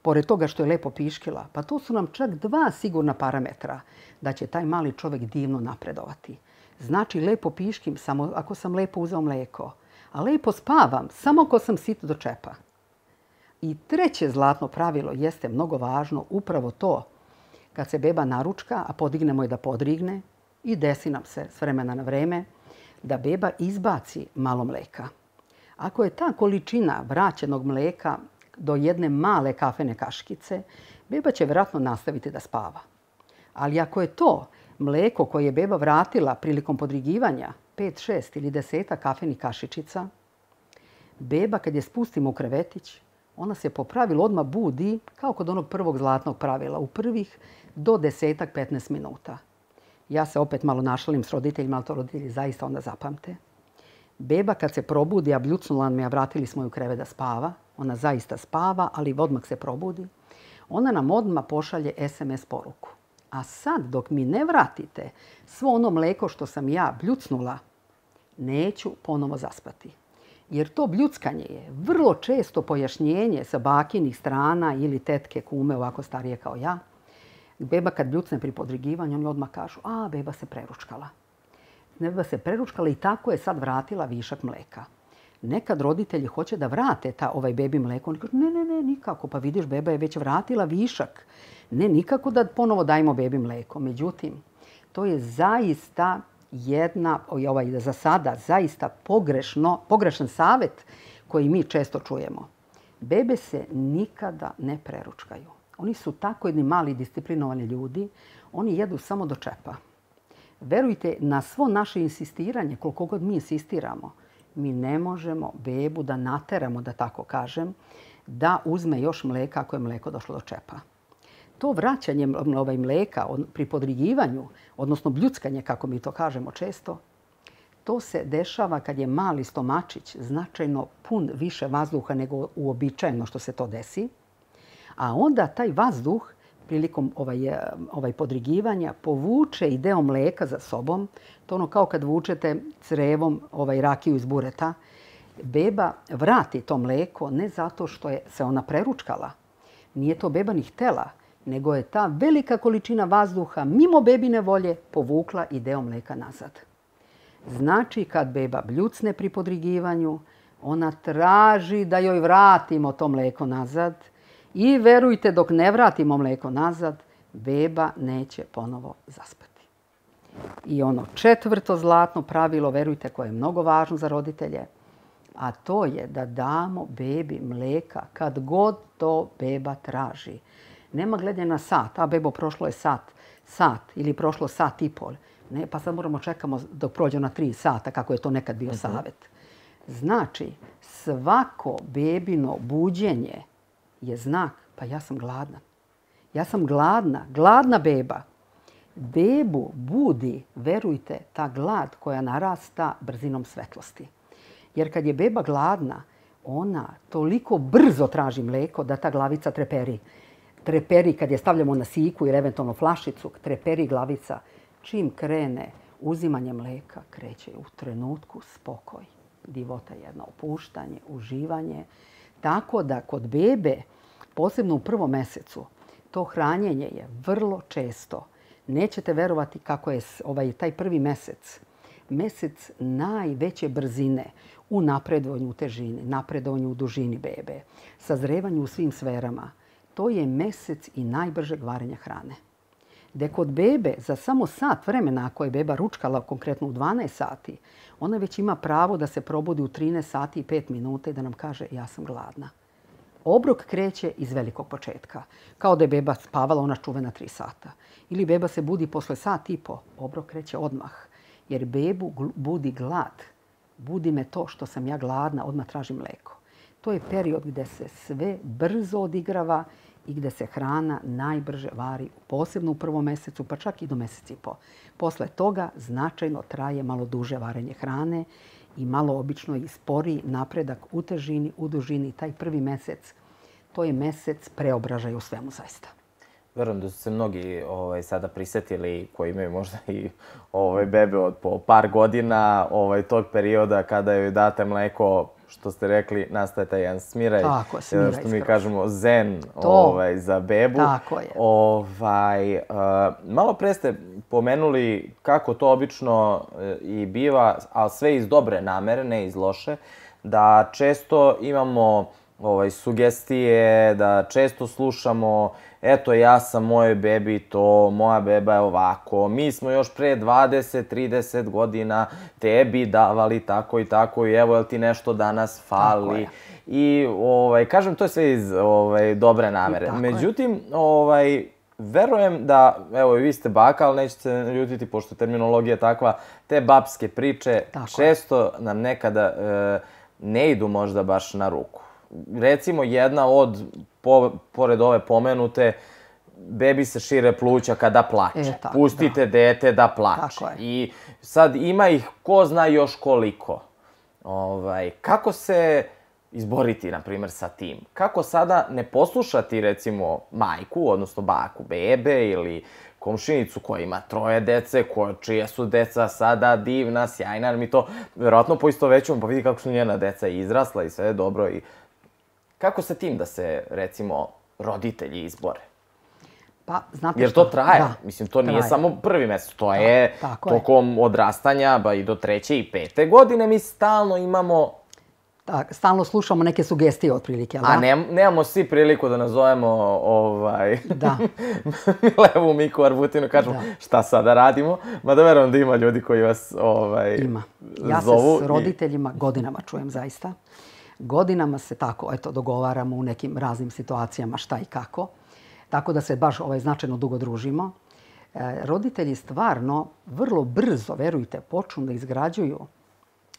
pored toga što je lepo piškila, pa to su nam čak dva sigurna parametra da će taj mali čovjek divno napredovati. Znači lepo piškim samo ako sam lepo uzeo mleko, a lepo spavam samo ako sam sit do čepa. I treće zlatno pravilo jeste mnogo važno, upravo to. Kad se beba naručka, a podignemo je da podrigne i desi nam se s vremena na vreme da beba izbaci malo mleka. Ako je ta količina vraćenog mleka do jedne male kafene kaškice, beba će vjerojatno nastaviti da spava. Ali ako je to mleko koje je beba vratila prilikom podrigivanja, pet, šest ili deseta kafenih kašičica, beba kad je spustimo u krevetić, ona se po pravilu odmah budi kao kod onog prvog zlatnog pravila, u prvih do desetak, petnaest minuta. Ja se opet malo našalim s roditeljima, ali to roditelji zaista onda zapamte. Beba kad se probudi, a bljucnula me, a vratili smo ju u krevet da spava, ona zaista spava, ali odmah se probudi, ona nam odmah pošalje es em es poruku. A sad, dok mi ne vratite svo ono mlijeko što sam ja bljucnula, neću ponovo zaspati. Jer to bljuckanje je vrlo često pojašnjenje sa bakinih strana ili tetke, kume, ovako starije kao ja. Beba kad bljucne pri podrigivanju, oni odmah kažu, a, beba se preručkala. Beba se preručkala i tako je sad vratila višak mlijeka. Nekad roditelji hoće da vrate ta, ovaj bebi mlijeko. Oni kažu, ne, ne, ne, nikako. Pa vidiš, beba je već vratila višak. Ne, nikako da ponovo dajmo bebi mlijeko. Međutim, to je zaista jedna, ovaj, za sada, zaista pogrešno, pogrešan savjet koji mi često čujemo. Bebe se nikada ne preručkaju. Oni su tako jedni mali disciplinovani ljudi. Oni jedu samo do čepa. Verujte, na svo naše insistiranje, koliko god mi insistiramo, mi ne možemo bebu da nateramo, da tako kažem, da uzme još mlijeka ako je mlijeko došlo do čepa. To vraćanje ovaj mlijeka pri podrigivanju, odnosno bljuckanje, kako mi to kažemo često, to se dešava kad je mali stomačić značajno pun više vazduha nego uobičajeno što se to desi. A onda taj vazduh prilikom ovaj, ovaj podrigivanja povuče i deo mlijeka za sobom. To ono kao kad vučete crevom ovaj rakiju iz bureta. Beba vrati to mlijeko ne zato što je se ona preručkala. Nije to beba ni htela, nego je ta velika količina vazduha mimo bebine volje povukla i deo mlijeka nazad. Znači kad beba bljucne pri podrigivanju, ona traži da joj vratimo to mlijeko nazad. I verujte, dok ne vratimo mlijeko nazad, beba neće ponovo zaspati. I ono četvrto zlatno pravilo, verujte, koje je mnogo važno za roditelje, a to je da damo bebi mlijeka kad god to beba traži. Nema gledanja na sat, a bebo prošlo je sat, sat ili prošlo sat i pol. Ne, pa sad moramo čekamo dok prođe na tri sata, kako je to nekad bio savjet. Znači, svako bebino buđenje je znak, pa ja sam gladna. Ja sam gladna, gladna beba. Bebu budi, verujte, ta glad koja narasta brzinom svetlosti. Jer kad je beba gladna, ona toliko brzo traži mlijeko da ta glavica treperi. Treperi kad je stavljamo na siku ili eventualno flašicu, treperi glavica. Čim krene uzimanje mlijeka, kreće u trenutku spokoj. Divota jedna, opuštanje, uživanje. Tako da kod bebe, posebno u prvom mjesecu, to hranjenje je vrlo često. Nećete verovati kako je ovaj, taj prvi mjesec, mjesec najveće brzine u napredovanju u težini, napredovanju u dužini bebe, sazrevanju u svim sferama. To je mjesec i najbržeg varenja hrane. Da kod bebe za samo sat vremena, ako je beba ručkala konkretno u dvanaest sati, ona već ima pravo da se probudi u trinaest sati i pet minuta i da nam kaže ja sam gladna. Obrok kreće iz velikog početka. Kao da je beba spavala ona čuvena tri sata. Ili beba se budi posle sat i po. Obrok kreće odmah. Jer bebu budi glad. Budi me to što sam ja gladna, odmah tražim mlijeko. To je period gdje se sve brzo odigrava i gdje se hrana najbrže vari, posebno u prvom mjesecu, pa čak i do mjesec i po. Posle toga značajno traje malo duže varenje hrane i malo obično i sporiji napredak u težini, u dužini. Taj prvi mjesec, to je mjesec preobražaja u svemu zaista. Verujem da su se mnogi ovaj, sada prisetili koji imaju možda i ovaj, bebe od po par godina ovaj, tog perioda kada joj date mleko, što ste rekli, nastaje taj jedan smiraj. Tako, smiraj što mi kažemo zen ovaj, za bebu. Tako je. Ovaj, uh, malo pre ste pomenuli kako to obično uh, i biva, ali sve iz dobre namere, ne iz loše, da često imamo ovaj, sugestije, da često slušamo eto ja sam mojoj bebi to, moja beba je ovako, mi smo još pre dvadeset trideset godina tebi davali tako i tako i evo jel ti nešto danas fali. I ovaj, kažem to je sve iz ovaj, dobre namere. Međutim, ovaj, verujem da, evo i vi ste baka, ali nećete se ljutiti pošto terminologija je takva, te babske priče tako često nam nekada e, ne idu možda baš na ruku. Recimo jedna od, po, pored ove pomenute, bebi se šire pluća kada plače. E, tako, pustite da. dete da plače. I sad ima ih ko zna još koliko. Ovaj, kako se izboriti, na primjer, sa tim? Kako sada ne poslušati, recimo, majku, odnosno baku bebe ili komšinicu koja ima troje dece, koja, čija su deca sada divna, sjajna, mi to verovatno poistovećujemo, pa vidi kako su njena deca izrasla i sve je dobro. I kako sa tim da se, recimo, roditelji izbore? Pa, znate Jer što? to traje. Da, Mislim, to nije traje. samo prvi mesec, to je tako je. tokom odrastanja, ba i do treće i pete godine mi stalno imamo... Tak, stalno slušamo neke sugestije otprilike, ali A da? ne, nemamo svi priliku da nazovemo ovaj... Da. Milevu Miku Arbutinu, kažemo Da. šta sada radimo. Mada verujem da ima ljudi koji vas ovaj, Ima. Ja se zovu. s roditeljima godinama čujem zaista. Godinama se tako, eto, dogovaramo u nekim raznim situacijama šta i kako. Tako da se baš ovaj, značajno dugo družimo. E, roditelji stvarno vrlo brzo, verujte, počnu da izgrađuju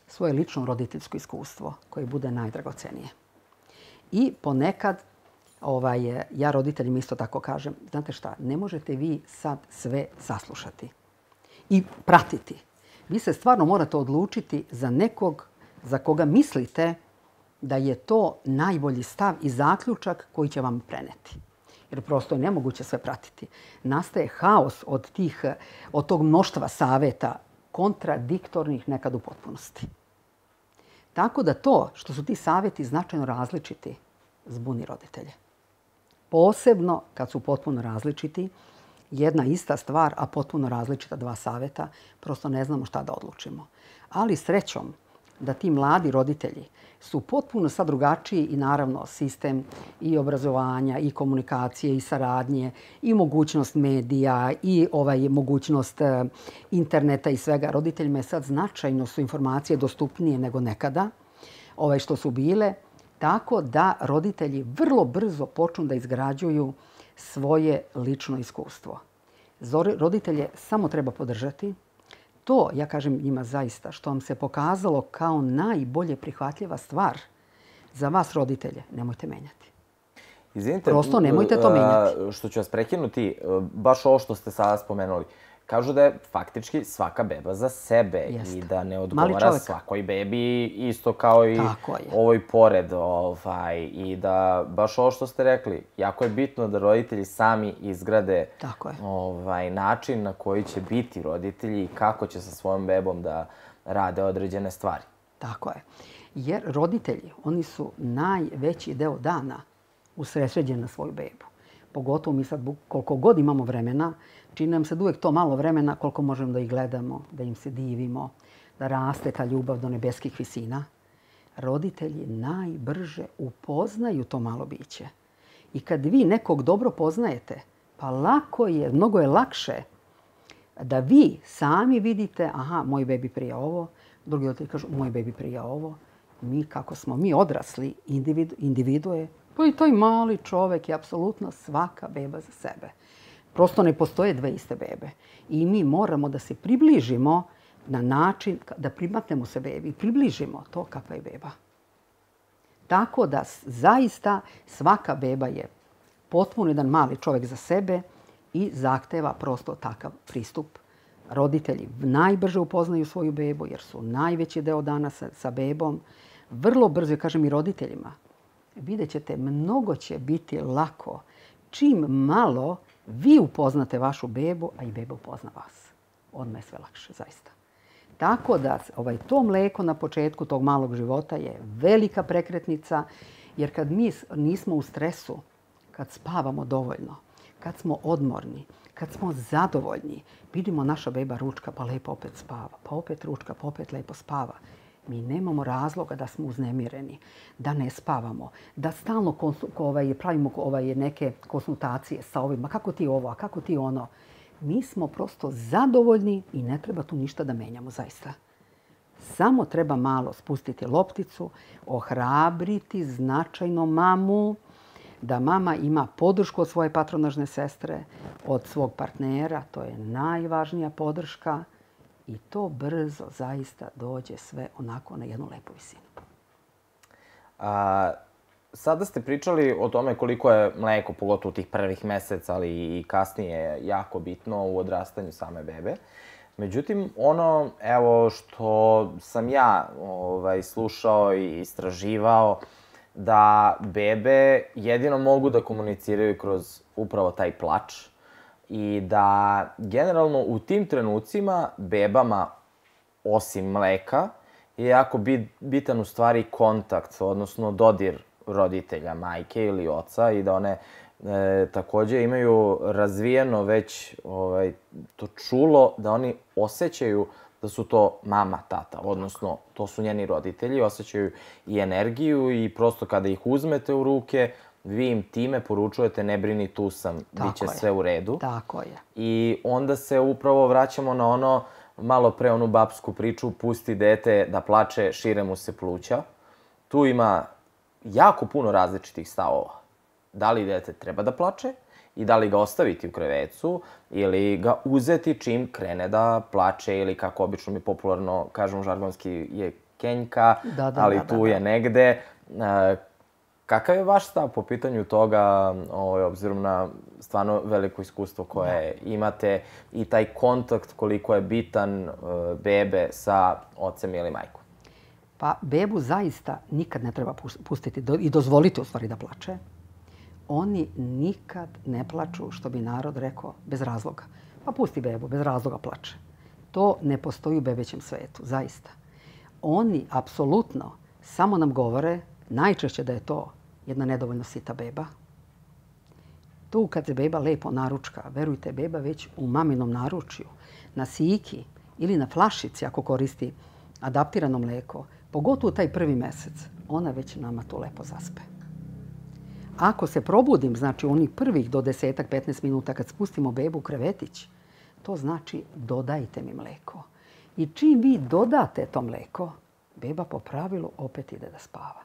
svoje lično roditeljsko iskustvo koje bude najdragocenije. I ponekad, ovaj, ja roditeljima isto tako kažem, znate šta, ne možete vi sad sve saslušati i pratiti. Vi se stvarno morate odlučiti za nekog za koga mislite da je to najbolji stav i zaključak koji će vam preneti. Jer prosto je nemoguće sve pratiti. Nastaje haos od, tih, od tog mnoštva saveta, kontradiktornih nekad u potpunosti. Tako da to što su ti savjeti značajno različiti zbuni roditelje. Posebno kad su potpuno različiti, jedna ista stvar, a potpuno različita dva savjeta, prosto ne znamo šta da odlučimo. Ali srećom da ti mladi roditelji su potpuno sad drugačiji i naravno sistem i obrazovanja i komunikacije i saradnje i mogućnost medija i ovaj mogućnost interneta i svega. Roditeljima je sad značajno su informacije dostupnije nego nekada ovaj što su bile. Tako da roditelji vrlo brzo počnu da izgrađuju svoje lično iskustvo. Roditelje samo treba podržati. To, ja kažem njima zaista, što vam se pokazalo kao najbolje prihvatljiva stvar za vas roditelje, nemojte menjati. Izvinite, prosto nemojte to menjati. Što ću vas prekinuti, baš ovo što ste sada spomenuli. Kažu da je faktički svaka beba za sebe. Jeste. I da ne odgovara svakoj bebi isto kao i Tako je. ovoj pored. Ovaj, I da baš ovo što ste rekli, jako je bitno da roditelji sami izgrade Tako je. ovaj, način na koji će biti roditelji i kako će sa svojom bebom da rade određene stvari. Tako je. Jer roditelji, oni su najveći deo dana usredsređeni na svoju bebu. Pogotovo mi sad koliko god imamo vremena, čini nam se da uvijek to malo vremena koliko možemo da ih gledamo, da im se divimo, da raste ta ljubav do nebeskih visina. Roditelji najbrže upoznaju to malo biće. I kad vi nekog dobro poznajete, pa lako je, mnogo je lakše da vi sami vidite, aha, moj bebi prije ovo, drugi roditelji kažu, moj bebi prije ovo. Mi kako smo mi odrasli individu, individue, pa i taj mali čovek je apsolutno svaka beba za sebe. Prosto ne postoje dve iste bebe. I mi moramo da se približimo na način da primatnemo se bebi i približimo to kakva je beba. Tako da zaista svaka beba je potpuno jedan mali čovek za sebe i zahteva prosto takav pristup. Roditelji najbrže upoznaju svoju bebu jer su najveći deo dana sa, sa bebom. Vrlo brzo, kažem i roditeljima, vidjet ćete, mnogo će biti lako čim malo vi upoznate vašu bebu, a i beba upozna vas. Odmah je sve lakše, zaista. Tako da ovaj, to mleko na početku tog malog života je velika prekretnica, jer kad mi nismo u stresu, kad spavamo dovoljno, kad smo odmorni, kad smo zadovoljni, vidimo naša beba ručka pa lepo opet spava, pa opet ručka pa opet lepo spava. Mi nemamo razloga da smo uznemireni, da ne spavamo, da stalno ovaj, pravimo ovaj, neke konsultacije sa ovima. Kako ti ovo, a kako ti ono? Mi smo prosto zadovoljni i ne treba tu ništa da menjamo, zaista. Samo treba malo spustiti lopticu, ohrabriti značajno mamu, da mama ima podršku od svoje patronažne sestre, od svog partnera. To je najvažnija podrška. I to brzo zaista dođe sve onako na jednu lepu visinu. A, sada ste pričali o tome koliko je mleko, pogotovo tih prvih meseca, ali i kasnije, jako bitno u odrastanju same bebe. Međutim, ono evo što sam ja ovaj, slušao i istraživao, da bebe jedino mogu da komuniciraju kroz upravo taj plač. i da generalno u tim trenucima bebama, osim mleka, je jako bitan u stvari kontakt, odnosno dodir roditelja, majke ili oca i da one e, takođe imaju razvijeno već ovaj, to čulo, da oni osjećaju da su to mama, tata, odnosno to su njeni roditelji, osjećaju i energiju i prosto kada ih uzmete u ruke, vi im time poručujete ne brini, tu sam, bit će sve u redu. Tako je. I onda se upravo vraćamo na ono, malo pre onu babsku priču, pusti dete da plače, šire mu se pluća. Tu ima jako puno različitih stavova. Da li dete treba da plače i da li ga ostaviti u krevecu ili ga uzeti čim krene da plače ili kako obično mi popularno kažemo žargonski je kenjka, da, da, ali da, tu da, je da. negde. Kakav je vaš stav po pitanju toga, ovaj, obzirom na stvarno veliko iskustvo koje da. imate i taj kontakt koliko je bitan uh, bebe sa ocem ili majkom? Pa bebu zaista nikad ne treba pustiti do, i dozvoliti u stvari da plače. Oni nikad ne plaču, što bi narod rekao, bez razloga. Pa pusti bebu, bez razloga plače. To ne postoji u bebećem svetu, zaista. Oni apsolutno samo nam govore najčešće da je to jedna nedovoljno sita beba. Tu kad se beba lepo naručka, verujte, beba već u maminom naručju, na siki ili na flašici ako koristi adaptirano mlijeko, pogotovo taj prvi mesec, ona već nama tu lepo zaspe. Ako se probudim, znači onih prvih do desetak, petnaest minuta kad spustimo bebu u krevetić, to znači dodajte mi mlijeko. I čim vi dodate to mlijeko, beba po pravilu opet ide da spava.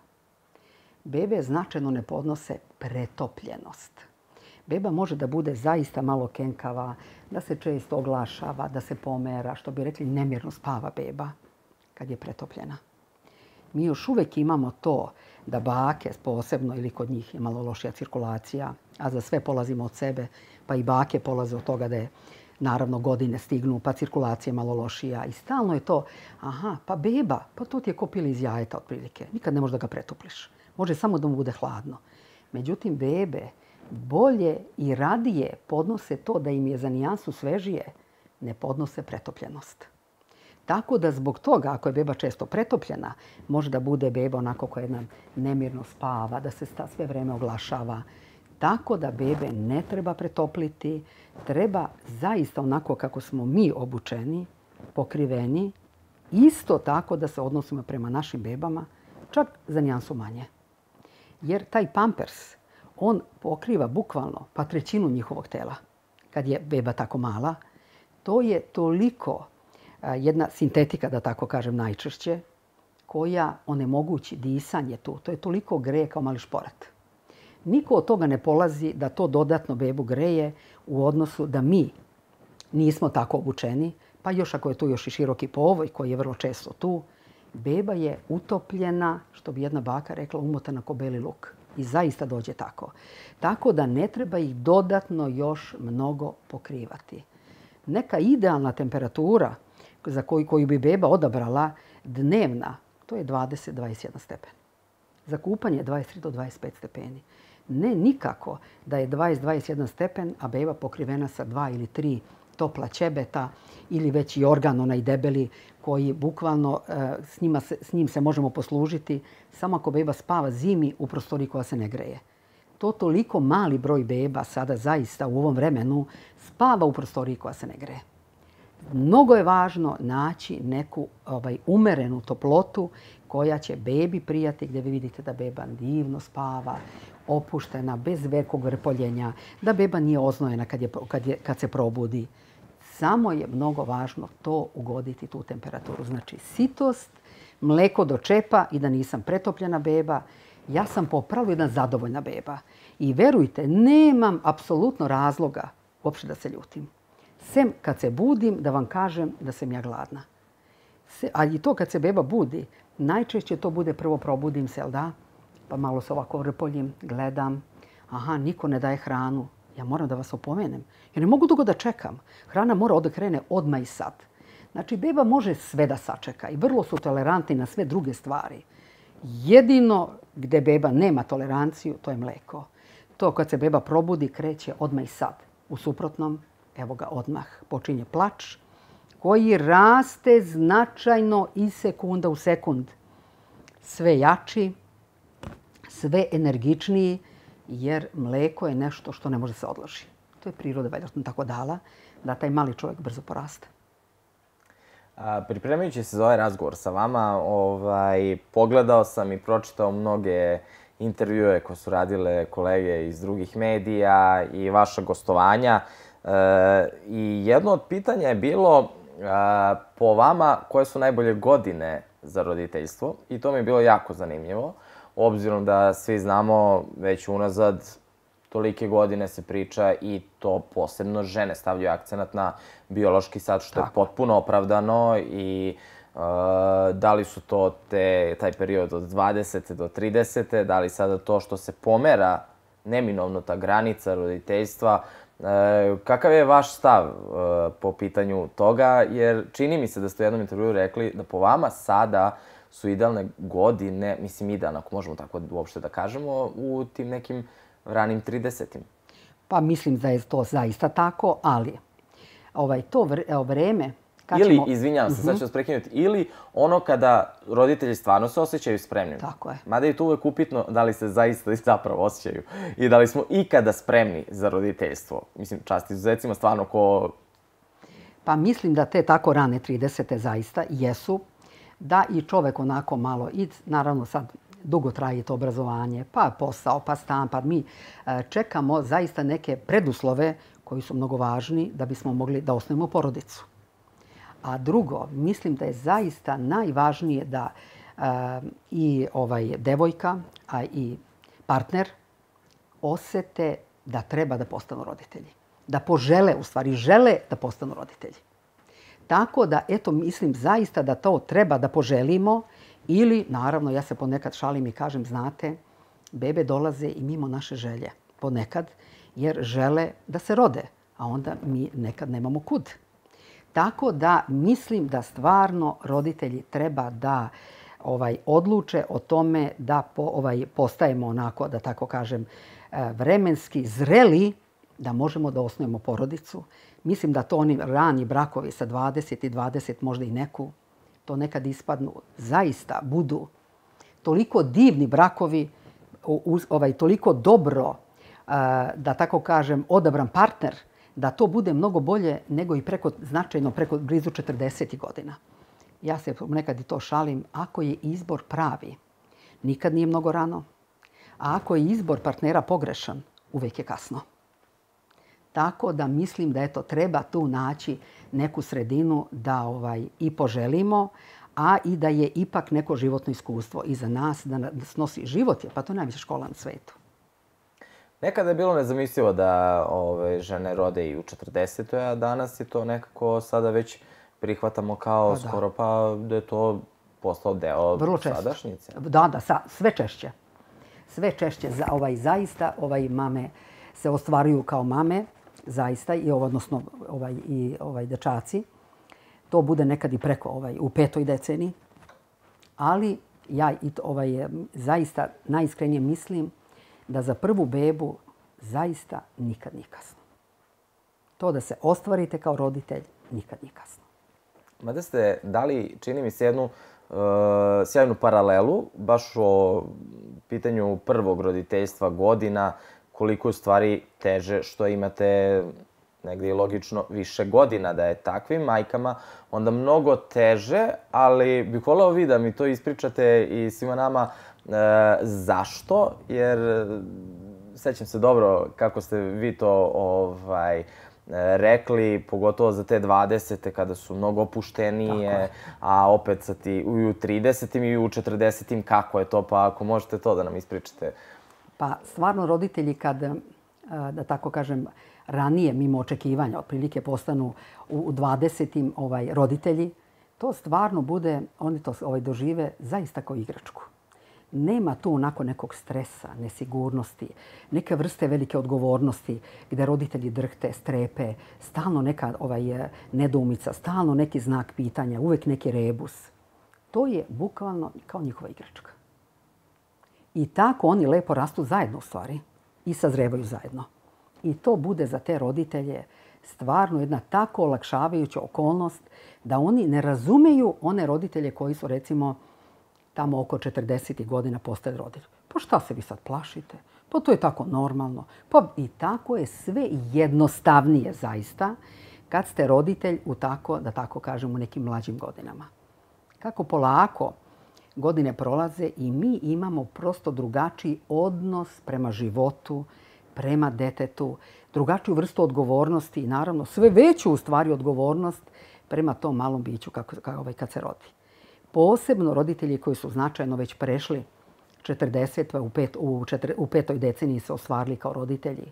Bebe značajno ne podnose pretopljenost. Beba može da bude zaista malo kenkava, da se često oglašava, da se pomera, što bi rekli nemirno spava beba kad je pretopljena. Mi još uvijek imamo to da bake posebno ili kod njih je malo lošija cirkulacija, a za sve polazimo od sebe, pa i bake polaze od toga da je naravno godine stignu, pa cirkulacija je malo lošija i stalno je to, aha, pa beba, pa to ti je ko pili iz jajeta otprilike, nikad ne možeš da ga pretopliš. Može samo da mu bude hladno. Međutim, bebe bolje i radije podnose to da im je za nijansu svežije, ne podnose pretopljenost. Tako da zbog toga, ako je beba često pretopljena, može da bude beba onako koja jedna nemirno spava, da se sve vreme oglašava. Tako da bebe ne treba pretopliti, treba zaista onako kako smo mi obučeni, pokriveni, isto tako da se odnosimo prema našim bebama, čak za nijansu manje. Jer taj pampers, on pokriva bukvalno pa trećinu njihovog tela. Kad je beba tako mala, to je toliko jedna sintetika, da tako kažem najčešće, koja onemogući disanje tu. To je toliko greje kao mali šporet. Niko od toga ne polazi da to dodatno bebu greje u odnosu da mi nismo tako obučeni, pa još ako je tu još i široki povoj koji je vrlo često tu, beba je utopljena, što bi jedna baka rekla, umotana ko beli luk. I zaista dođe tako. Tako da ne treba ih dodatno još mnogo pokrivati. Neka idealna temperatura za koju, koju bi beba odabrala dnevna, to je dvadeset do dvadeset jedan stepen. Za kupanje dvadeset tri do dvadeset pet stepeni. Ne nikako da je dvadeset do dvadeset jedan stepen, a beba pokrivena sa dva ili tri topla ćebeta ili već i organ, onaj debeli, koji bukvalno s, njima se, s njim se možemo poslužiti samo ako beba spava zimi u prostoriji koja se ne greje. To toliko mali broj beba sada zaista u ovom vremenu spava u prostoriji koja se ne greje. Mnogo je važno naći neku ovaj, umerenu toplotu koja će bebi prijati, gdje vi vidite da beba divno spava, opuštena, bez velikog vrpoljenja, da beba nije oznojena kad, je, kad, je, kad se probudi. Samo je mnogo važno to ugoditi, tu temperaturu. Znači sitost, mleko do čepa i da nisam pretopljena beba. Ja sam po pravilu jedna zadovoljna beba. I verujte, nemam apsolutno razloga uopšte da se ljutim. Sem kad se budim da vam kažem da sam ja gladna. Se, a i to kad se beba budi, najčešće to bude prvo probudim se, jel da? Pa malo se ovako vrpoljim, gledam. Aha, niko ne daje hranu. Ja moram da vas opomenem. Ja ne mogu dugo da čekam. Hrana mora da krene odmah i sad. Znači, beba može sve da sačeka i vrlo su tolerantni na sve druge stvari. Jedino gde beba nema toleranciju, to je mleko. To kad se beba probudi, kreće odmah i sad. U suprotnom, evo ga odmah, počinje plač, koji raste značajno iz sekunda u sekund. Sve jači, sve energičniji, jer mleko je nešto što ne može se odloži. To je priroda vjerojatno tako dala, da taj mali čovjek brzo porasta. A, pripremajući se za ovaj razgovor sa vama, ovaj, pogledao sam i pročitao mnoge intervjue koje su radile kolege iz drugih medija i vaša gostovanja. E, I jedno od pitanja je bilo a, po vama koje su najbolje godine za roditeljstvo. I to mi je bilo jako zanimljivo, obzirom da svi znamo već unazad tolike godine se priča i to posebno žene stavljaju akcenat na biološki sat, što je potpuno opravdano i uh, da li su to te, taj period od dvadesete do tridesete, da li sada to što se pomera neminovno ta granica roditeljstva. Uh, kakav je vaš stav uh, po pitanju toga? Jer čini mi se da ste u jednom intervjuu rekli da po vama sada su idealne godine, mislim idealne, ako možemo tako uopšte da kažemo, u tim nekim ranim tridesetim. Pa mislim da je to zaista tako, ali ovaj, to vreme... Ili, ćemo... izvinjavam se, sad ću vas prekinuti, ili ono kada roditelji stvarno se osjećaju spremnim. Tako je. Mada je to uvek upitno da li se zaista i zapravo osjećaju i da li smo ikada spremni za roditeljstvo. Mislim, čast izuzecima stvarno ko... Pa mislim da te tako rane tridesete zaista jesu, da i čovek onako malo, i naravno sad dugo traje to obrazovanje, pa posao, pa stan, pa mi čekamo zaista neke preduslove koji su mnogo važni da bismo mogli da osnovimo porodicu. A drugo, mislim da je zaista najvažnije da e, i ovaj devojka, a i partner osete da treba da postanu roditelji. Da požele, u stvari žele da postanu roditelji. Tako da, eto, mislim zaista da to treba da poželimo ili, naravno, ja se ponekad šalim i kažem, znate, bebe dolaze i mimo naše želje. Ponekad, jer žele da se rode, a onda mi nekad nemamo kud. Tako da mislim da stvarno roditelji treba da ovaj, odluče o tome da po, ovaj, postajemo onako, da tako kažem, vremenski zreli da možemo da osnujemo porodicu. Mislim da to oni rani brakovi sa dvadeset i dvadeset, možda i neku, to nekad ispadnu, zaista budu toliko divni brakovi, ovaj, toliko dobro, da tako kažem, odabran partner, da to bude mnogo bolje nego i preko, značajno preko blizu četrdeset godina. Ja se nekad i to šalim, ako je izbor pravi, nikad nije mnogo rano, a ako je izbor partnera pogrešan, uvek je kasno. Tako da mislim da eto, treba tu naći neku sredinu da ovaj, i poželimo, a i da je ipak neko životno iskustvo iza nas, da snosi život, pa to je najveća škola na svetu. Nekada je bilo nezamislivo da ove, žene rode i u četrdesetoj, a danas je to nekako sada već prihvatamo kao pa skoro pa da je to postao deo sadašnjice. Da, da, sa, sve češće. Sve češće. Za, ovaj, zaista ovaj, mame se ostvaruju kao mame, zaista, i odnosno ovaj, i ovaj, dečaci. To bude nekad i preko ovaj, u petoj deceniji. Ali ja i to, ovaj, zaista najiskrenije mislim da za prvu bebu zaista nikad nije kasno. To da se ostvarite kao roditelj nikad nije kasno. Mada ste dali, čini mi se, jednu uh, sjajnu paralelu, baš o pitanju prvog roditeljstva godina, koliko je stvari teže što imate negdje i logično više godina da je takvim majkama, onda mnogo teže, ali bih voleo vi da mi to ispričate i svima nama e, zašto, jer sećam se dobro kako ste vi to ovaj, rekli, pogotovo za te dvadesete kada su mnogo opuštenije, a opet sa ti u tridesetim i u četrdesetim kako je to, pa ako možete to da nam ispričate. Pa stvarno roditelji kad, da tako kažem, ranije mimo očekivanja, otprilike postanu u dvadesetim ovaj, roditelji, to stvarno bude, oni to ovaj, dožive zaista kao igračku. Nema tu onako nekog stresa, nesigurnosti, neke vrste velike odgovornosti gdje roditelji drhte, strepe, stalno neka ovaj, nedoumica, stalno neki znak pitanja, uvek neki rebus. To je bukvalno kao njihova igračka. I tako oni lepo rastu zajedno u stvari i sazrevaju zajedno. I to bude za te roditelje stvarno jedna tako olakšavajuća okolnost da oni ne razumeju one roditelje koji su recimo tamo oko četrdeset godina postali roditelji. Pa šta se vi sad plašite? Pa to je tako normalno. Pa i tako je sve jednostavnije zaista kad ste roditelj u tako, da tako kažem, u nekim mlađim godinama. Kako polako godine prolaze i mi imamo prosto drugačiji odnos prema životu, prema detetu, drugačiju vrstu odgovornosti i naravno sve veću u stvari odgovornost prema tom malom biću kako, kako, kad se rodi. Posebno roditelji koji su značajno već prešli četrdeset, u, pet, u, četiri, u petoj deceniji se ostvarili kao roditelji.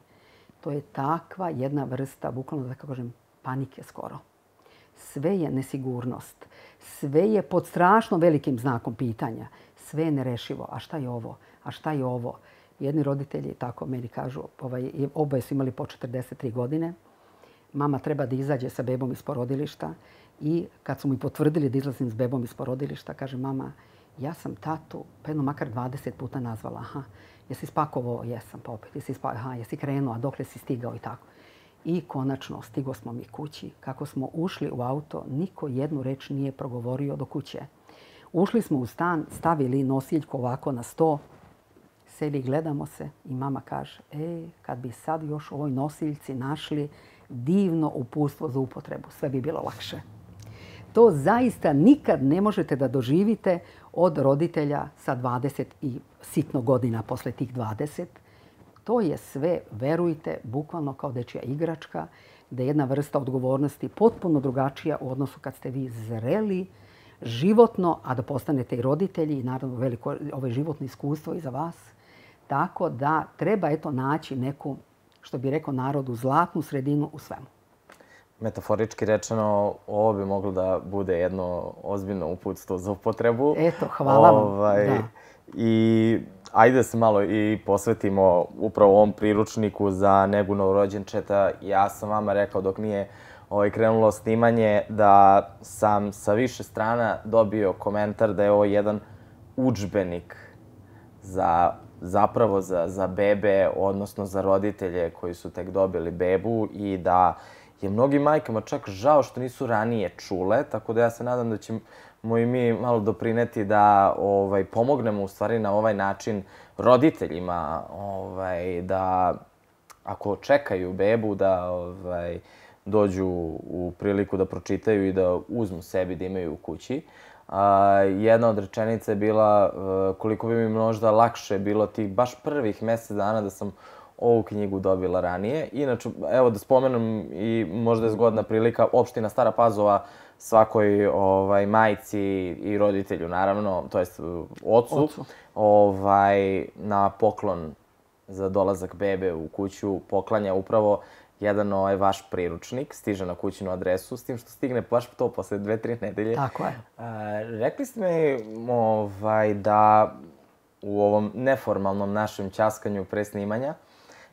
To je takva jedna vrsta, bukvalno da kažem, panike skoro. Sve je nesigurnost. Sve je pod strašno velikim znakom pitanja. Sve je nerešivo. A šta je ovo? A šta je ovo? Jedni roditelji, tako meni kažu, ovaj, oboje su imali po četrdeset tri godine. Mama treba da izađe sa bebom iz porodilišta i kad su mi potvrdili da izlazim s bebom iz porodilišta, kaže mama, ja sam tatu pa jedno makar dvadeset puta nazvala. Aha, jesi spakovao? Jesam, pa opet. Jesi spakovao? Aha, jesi krenuo? A dokle si stigao? I tako. I konačno stigo smo mi kući. Kako smo ušli u auto, niko jednu reč nije progovorio do kuće. Ušli smo u stan, stavili nosiljku ovako na sto, seli, gledamo se i mama kaže, e, kad bi sad još u ovoj nosiljci našli divno uputstvo za upotrebu, sve bi bilo lakše. To zaista nikad ne možete da doživite od roditelja sa dvadeset i sitno godina posle tih dvadeset. To je sve, verujte, bukvalno kao dečija igračka, da je jedna vrsta odgovornosti potpuno drugačija u odnosu kad ste vi zreli, životno, a da postanete i roditelji i naravno veliko ovo životno iskustvo i za vas. Tako da treba eto naći neku, što bi rekao narodu, zlatnu sredinu u svemu. Metaforički rečeno, ovo bi moglo da bude jedno ozbiljno uputstvo za upotrebu. Eto, hvala vam. Ovaj, da. I ajde da se malo i posvetimo upravo ovom priručniku za negu novorođenčeta. Ja sam vama rekao dok nije ovaj, krenulo snimanje da sam sa više strana dobio komentar da je ovo jedan udžbenik za, zapravo za, za bebe, odnosno za roditelje koji su tek dobili bebu i da je mnogim majkama čak žao što nisu ranije čule, tako da ja se nadam da ćemo i mi malo doprineti da ovaj, pomognemo u stvari na ovaj način roditeljima ovaj, da ako čekaju bebu da ovaj, dođu u priliku da pročitaju i da uzmu sebi da imaju u kući. A, jedna od rečenica je bila koliko bi mi možda lakše bilo tih baš prvih mjesec dana da sam ovu knjigu dobila ranije. Inače, evo da spomenem i možda je zgodna prilika, opština Stara Pazova svakoj ovaj, majci i roditelju, naravno, to jest ocu, Ocu. ovaj, na poklon za dolazak bebe u kuću poklanja upravo jedan ovaj vaš priručnik, stiže na kućnu adresu, s tim što stigne baš to posle dve, tri nedelje. Tako je. A, rekli ste mi ovaj, da u ovom neformalnom našem ćaskanju pre snimanja,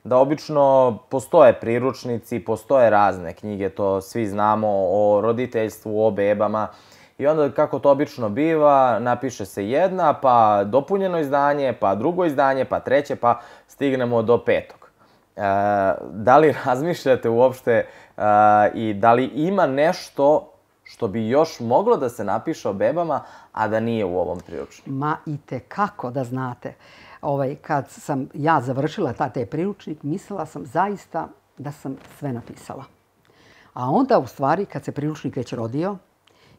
da obično postoje priručnici, postoje razne knjige, to svi znamo, o roditeljstvu, o bebama. I onda kako to obično biva, napiše se jedna, pa dopunjeno izdanje, pa drugo izdanje, pa treće, pa stignemo do petog. E, da li razmišljate uopšte e, i da li ima nešto što bi još moglo da se napiše o bebama, a da nije u ovom priručniku? Ma i tekako da znate. Ovaj, kad sam ja završila ta taj priručnik, mislila sam zaista da sam sve napisala. A onda u stvari kad se priručnik već rodio,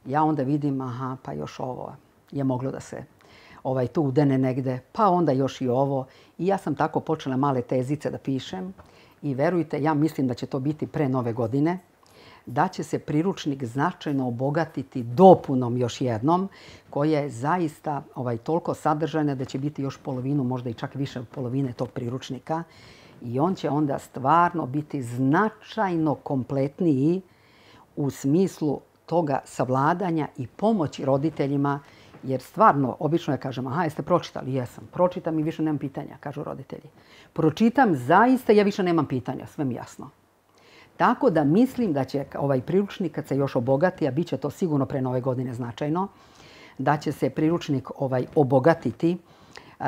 ja onda vidim, aha, pa još ovo je moglo da se ovaj, tu udene negde, pa onda još i ovo. I ja sam tako počela male tezice da pišem i verujte, ja mislim da će to biti pre nove godine, da će se priručnik značajno obogatiti dopunom još jednom, koja je zaista ovaj, toliko sadržajna da će biti još polovinu, možda i čak više od polovine tog priručnika. I on će onda stvarno biti značajno kompletniji u smislu toga savladanja i pomoći roditeljima, jer stvarno, obično ja kažem, aha, jeste pročitali? Jesam. Pročitam i više nemam pitanja, kažu roditelji. Pročitam zaista, ja više nemam pitanja, sve mi jasno. Tako da mislim da će ovaj priručnik, kad se još obogati, a bit će to sigurno pre nove godine značajno, da će se priručnik ovaj, obogatiti,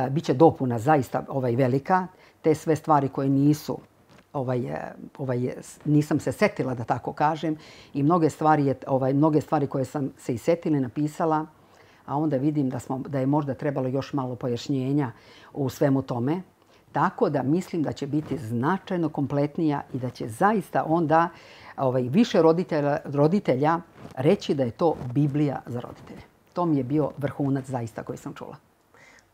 biće dopuna zaista ovaj, velika, te sve stvari koje nisu ovaj, ovaj, nisam se setila da tako kažem i mnoge stvari, je, ovaj, mnoge stvari koje sam se i setila i napisala, a onda vidim da, smo, da je možda trebalo još malo pojašnjenja u svemu tome. Tako da mislim da će biti značajno kompletnija i da će zaista onda ovaj, više roditelja, roditelja reći da je to Biblija za roditelje. To mi je bio vrhunac zaista koji sam čula.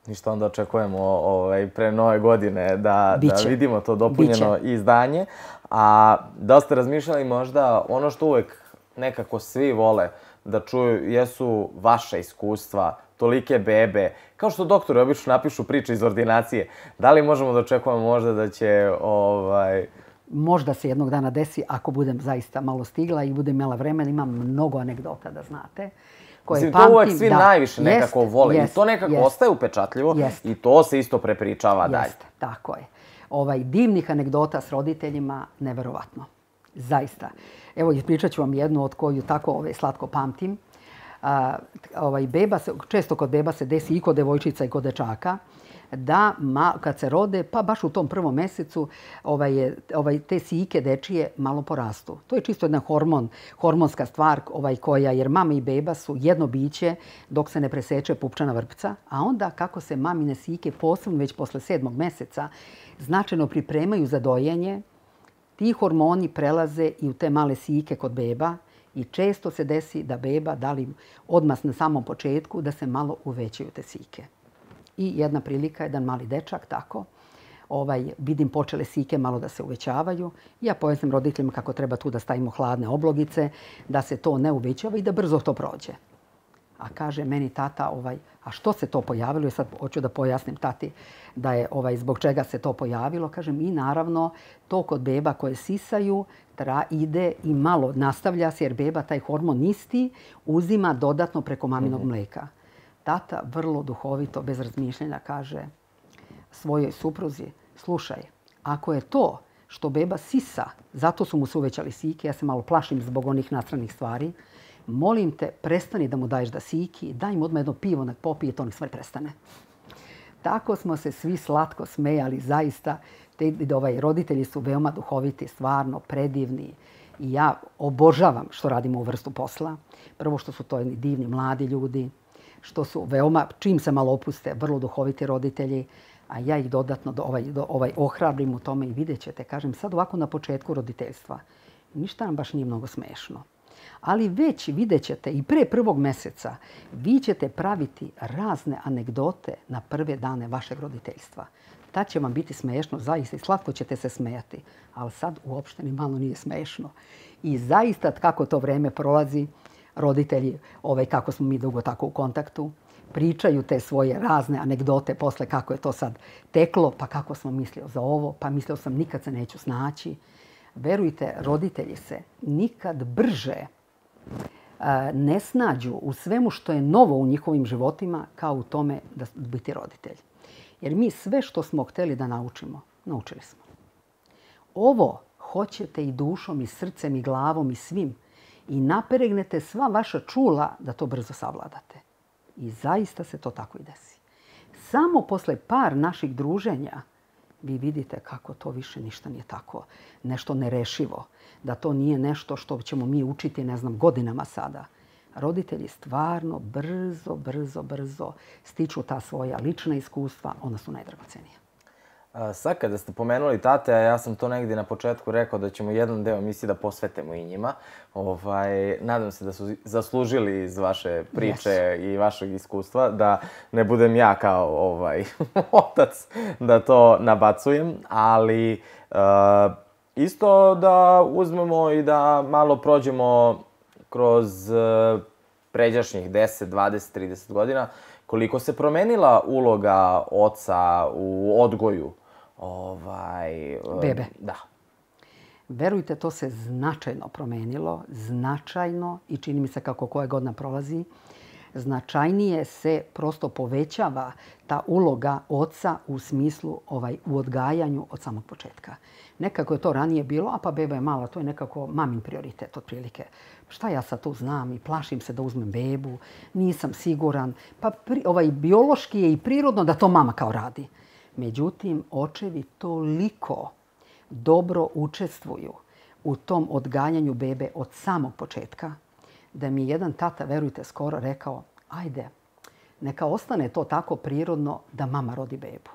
Ništa, onda očekujemo ovaj, pre nove godine da, da vidimo to dopunjeno Biće. izdanje. A da ste razmišljali možda ono što uvek nekako svi vole da čuju jesu vaša iskustva, tolike bebe. Kao što doktori obično napišu priče iz ordinacije. Da li možemo da očekujemo možda da će... Ovaj... Možda se jednog dana desi, ako budem zaista malo stigla i budem imala vremena, imam mnogo anegdota da znate. Koje Mislim, pamtim, to uvek svi da, najviše nekako jest, vole jest, i to nekako jest, ostaje upečatljivo jest. I to se isto prepričava jest, dalje. Tako je. Ovaj, divnih anegdota s roditeljima, neverovatno. Zaista. Evo, ispričat ću vam jednu od koju tako ovaj, slatko pamtim. A, ovaj, beba se, često kod beba se desi i kod devojčica i kod dečaka, da ma, kad se rode, pa baš u tom prvom mesecu, ovaj, ovaj, te sijike dečije malo porastu. To je čisto jedna hormon, hormonska stvar ovaj, koja, jer mama i beba su jedno biće dok se ne preseče pupčana vrpca, a onda kako se mamine sijike, posebno već posle sedmog meseca, značajno pripremaju za dojenje, ti hormoni prelaze i u te male sijike kod beba i često se desi da beba, da li odmah na samom početku, da se malo uvećaju te sijike. I jedna prilika, jedan mali dečak, tako, ovaj, vidim počele sijike malo da se uvećavaju. Ja pojasnim roditeljima kako treba tu da stavimo hladne oblogice, da se to ne uvećava i da brzo to prođe. A kaže meni tata, ovaj, a što se to pojavilo? I sad hoću da pojasnim tati da je ovaj, zbog čega se to pojavilo. Kažem, i naravno to kod beba koje sisaju tra, ide i malo nastavlja se jer beba taj hormon isti uzima dodatno preko maminog mm-hmm. mleka. Tata vrlo duhovito, bez razmišljanja, kaže svojoj supruzi, slušaj, ako je to što beba sisa, zato su mu se uvećali sijike, ja se malo plašim zbog onih nastranih stvari, molim te, prestani da mu daješ da siki, daj mu odmah jedno pivo, nek popije, to nek stvari prestane. Tako smo se svi slatko smejali, zaista. Te, ovaj, roditelji su veoma duhoviti, stvarno predivni. I ja obožavam što radimo u vrstu posla. Prvo što su to divni mladi ljudi, što su veoma, čim se malo opuste, vrlo duhoviti roditelji, a ja ih dodatno do, ovaj, do, ovaj, ohrabrim u tome i vidjet ćete, kažem, sad ovako na početku roditeljstva, ništa nam baš nije mnogo smešno. Ali već vidjet ćete i pre prvog meseca vi ćete praviti razne anegdote na prve dane vašeg roditeljstva. Tad će vam biti smešno, zaista i slatko ćete se smejati, ali sad uopšte ni malo nije smešno. I zaista kako to vreme prolazi, roditelji, ovaj, kako smo mi dugo tako u kontaktu, pričaju te svoje razne anegdote posle kako je to sad teklo, pa kako smo mislio za ovo, pa mislio sam nikad se neću snaći. Verujte, roditelji se nikad brže ne snađu u svemu što je novo u njihovim životima kao u tome da biti roditelj. Jer mi sve što smo hteli da naučimo, naučili smo. Ovo hoćete i dušom, i srcem, i glavom, i svim. I napregnete sva vaša čula da to brzo savladate. I zaista se to tako i desi. Samo posle par naših druženja vi vidite kako to više ništa nije tako. Nešto nerešivo. Da to nije nešto što ćemo mi učiti, ne znam, godinama sada. Roditelji stvarno brzo, brzo, brzo stiču ta svoja lična iskustva. Ona su najdragocenija. Sad kada ste pomenuli tate, a ja sam to negdje na početku rekao da ćemo jedan deo emisije da posvetimo i njima. Ovaj, nadam se da su zaslužili iz vaše priče yes. i vašeg iskustva, da ne budem ja kao ovaj, otac da to nabacujem, ali uh, isto da uzmemo i da malo prođemo kroz uh, pređašnjih deset, dvadeset, trideset godina, koliko se promenila uloga oca u odgoju ovaj, bebe. Da. Verujte, to se značajno promenilo, značajno i čini mi se kako koja godina prolazi, značajnije se prosto povećava ta uloga oca u smislu ovaj, u odgajanju od samog početka. Nekako je to ranije bilo, a pa beba je mala, to je nekako mamin prioritet otprilike. Šta ja sad tu znam i plašim se da uzmem bebu, nisam siguran. Pa pri, ovaj, biološki je i prirodno da to mama kao radi. Međutim, očevi toliko dobro učestvuju u tom odgajanju bebe od samog početka, da mi je jedan tata, verujte, skoro rekao, ajde, neka ostane to tako prirodno da mama rodi bebu.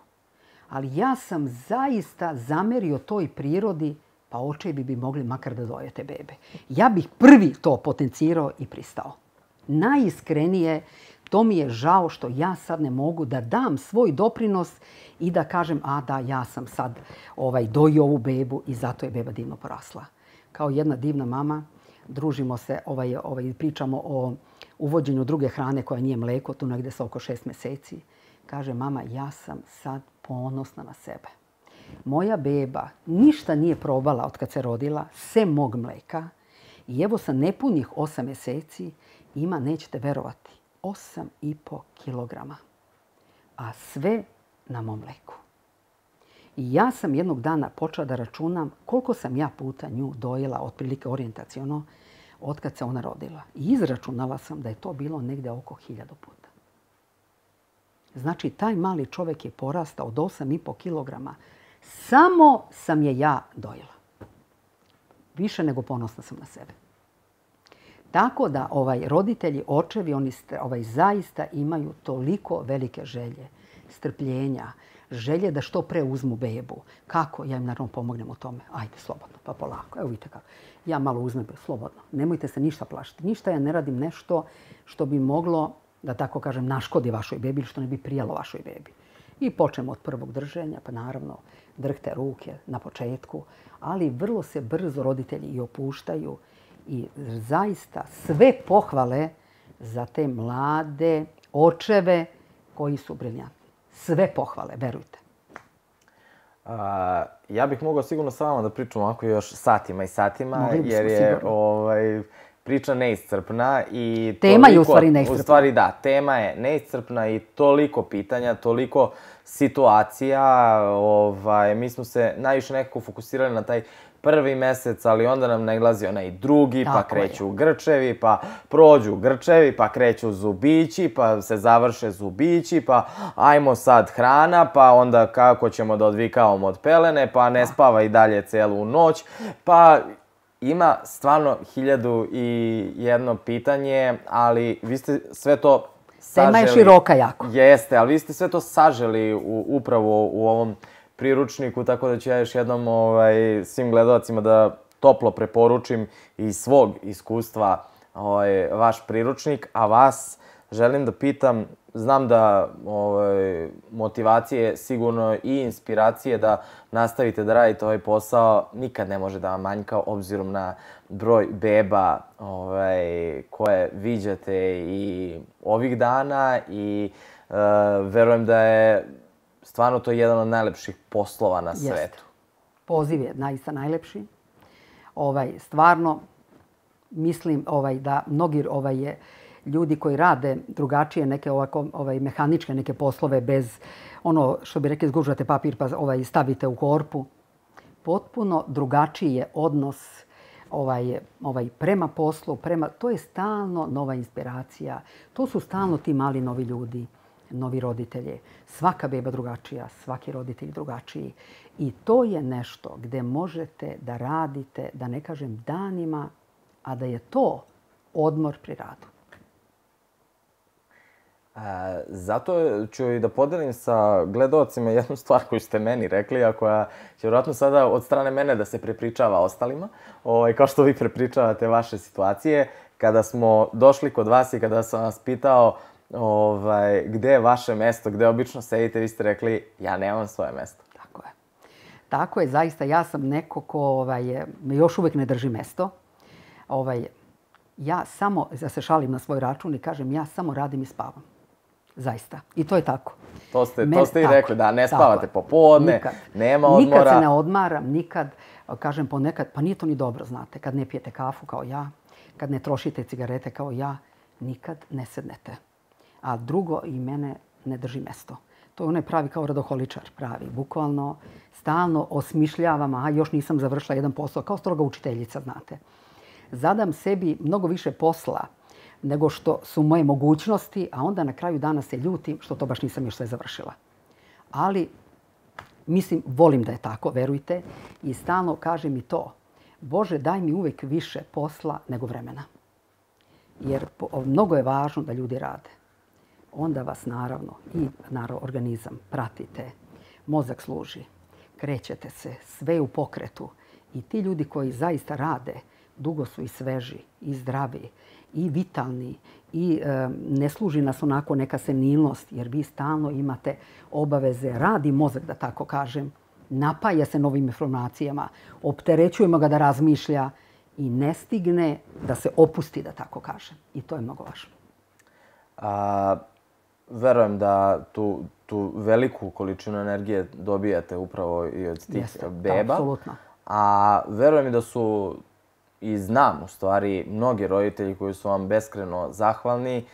Ali ja sam zaista zamerio toj prirodi, pa očevi bi mogli makar da doje te bebe. Ja bih prvi to potencirao i pristao. Najiskrenije, to mi je žao što ja sad ne mogu da dam svoj doprinos i da kažem, a da, ja sam sad ovaj, dojio ovu bebu i zato je beba divno porasla. Kao jedna divna mama, družimo se, ovaj, ovaj, pričamo o uvođenju druge hrane koja nije mleko, tu negde sa oko šest meseci. Kaže, mama, ja sam sad ponosna na sebe. Moja beba ništa nije probala od kad se rodila, sem mog mleka. I evo sa nepunih osam meseci ima, nećete verovati, osam i po kilograma. A sve na mom mleku. I ja sam jednog dana počela da računam koliko sam ja puta nju dojela, otprilike orijentaciono, od kad se ona rodila. I izračunala sam da je to bilo negde oko hiljadu puta. Znači, taj mali čovjek je porastao od osam i po kilograma. Samo sam je ja dojela. Više nego ponosna sam na sebe. Tako da ovaj, roditelji, očevi, oni ovaj, zaista imaju toliko velike želje, strpljenja, želje da što pre uzmu bebu. Kako? Ja im naravno pomognem u tome. Ajde, slobodno, pa polako. Evo vidite kako. Ja malo uzmem, slobodno. Nemojte se ništa plašiti. Ništa ja ne radim nešto što bi moglo, da tako kažem, naškodi vašoj bebi ili što ne bi prijelo vašoj bebi. I počnemo od prvog drženja, pa naravno drhte ruke na početku, ali vrlo se brzo roditelji i opuštaju i zaista sve pohvale za te mlade očeve koji su briljantni. Sve pohvale, verujte. A, ja bih mogao sigurno sa vama da pričam ovako još satima i satima, Mogli bismo jer je sigurno. ovaj, priča neiscrpna i Tema je u toliko- stvari neiscrpna. U stvari da, tema je neiscrpna i toliko pitanja, toliko situacija. Ovaj, mi smo se najviše nekako fokusirali na taj prvi mesec, ali onda nam nailazi onaj drugi, pa Tako je. kreću grčevi, pa prođu grčevi, pa kreću zubići, pa se završe zubići, pa ajmo sad hrana, pa onda kako ćemo da odvikavamo od pelene, pa ne spava i dalje celu noć, pa ima stvarno hiljadu i jedno pitanje, ali vi ste sve to saželi. Tema je široka jako. Jeste, ali vi ste sve to saželi u, upravo u ovom priručniku, tako da ću ja još jednom ovaj, svim gledalcima da toplo preporučim iz svog iskustva ovaj, vaš priručnik, a vas želim da pitam, znam da ovaj, motivacije sigurno i inspiracije da nastavite da radite ovaj posao nikad ne može da vam manjka obzirom na broj beba ovaj, koje viđate i ovih dana i uh, verujem da je stvarno to je jedan od najlepših poslova na svetu. Jeste. Poziv je naista najlepši. Ovaj, stvarno, mislim ovaj, da mnogi ovaj, je, ljudi koji rade drugačije neke ovako, ovaj, mehaničke neke poslove bez ono što bi rekli zgužvate papir pa ovaj, stavite u korpu. Potpuno drugačiji je odnos ovaj, ovaj, prema poslu, prema, to je stalno nova inspiracija. To su stalno ti mali novi ljudi, novi roditelji. Svaka beba drugačija, svaki roditelj drugačiji. I to je nešto gde možete da radite, da ne kažem danima, a da je to odmor pri radu. E, zato ću i da podelim sa gledaocima jednu stvar koju ste meni rekli, a koja će vjerojatno sada od strane mene da se prepričava ostalima, ovaj, kao što vi prepričavate vaše situacije. Kada smo došli kod vas i kada sam vas pitao ovaj, gde je vaše mesto, gde obično sedite, vi ste rekli ja nemam svoje mesto. Tako je. Tako je, zaista ja sam neko ko ovaj, još uvek ne drži mesto. Ovaj, ja samo, ja se šalim na svoj račun i kažem ja samo radim i spavam. Zaista. I to je tako. To ste, Mene- to ste i tako rekli, je, da ne tako spavate je. popodne, Nikad. nema odmora. Nikad se ne odmaram, nikad, kažem ponekad, pa nije to ni dobro, znate, kad ne pijete kafu kao ja, kad ne trošite cigarete kao ja, nikad ne sednete. A drugo, i mene ne drži mesto. To je onaj pravi kao radoholičar, pravi, bukvalno, stalno osmišljavam, a još nisam završila jedan posao, kao stroga učiteljica, znate. Zadam sebi mnogo više posla nego što su moje mogućnosti, a onda na kraju dana se ljutim što to baš nisam još sve završila. Ali Mislim, volim da je tako, verujte. I stalno kaže mi to. Bože, daj mi uvek više posla nego vremena. Jer mnogo je važno da ljudi rade. Onda vas naravno i naravno, organizam pratite. Mozak služi. Krećete se, sve je u pokretu. I ti ljudi koji zaista rade, dugo su i sveži, i zdravi, i vitalni, i e, ne služi nas onako neka senilnost, jer vi stalno imate obaveze. Radi mozak, da tako kažem, napaja se novim informacijama, opterećujemo ga da razmišlja i ne stigne da se opusti, da tako kažem. I to je mnogo važno. A, verujem da tu, tu veliku količinu energije dobijate upravo i od tih Jeste, beba. Da, apsolutno. A verujem i da su, i znam u stvari, mnogi roditelji koji su vam beskreno zahvalni,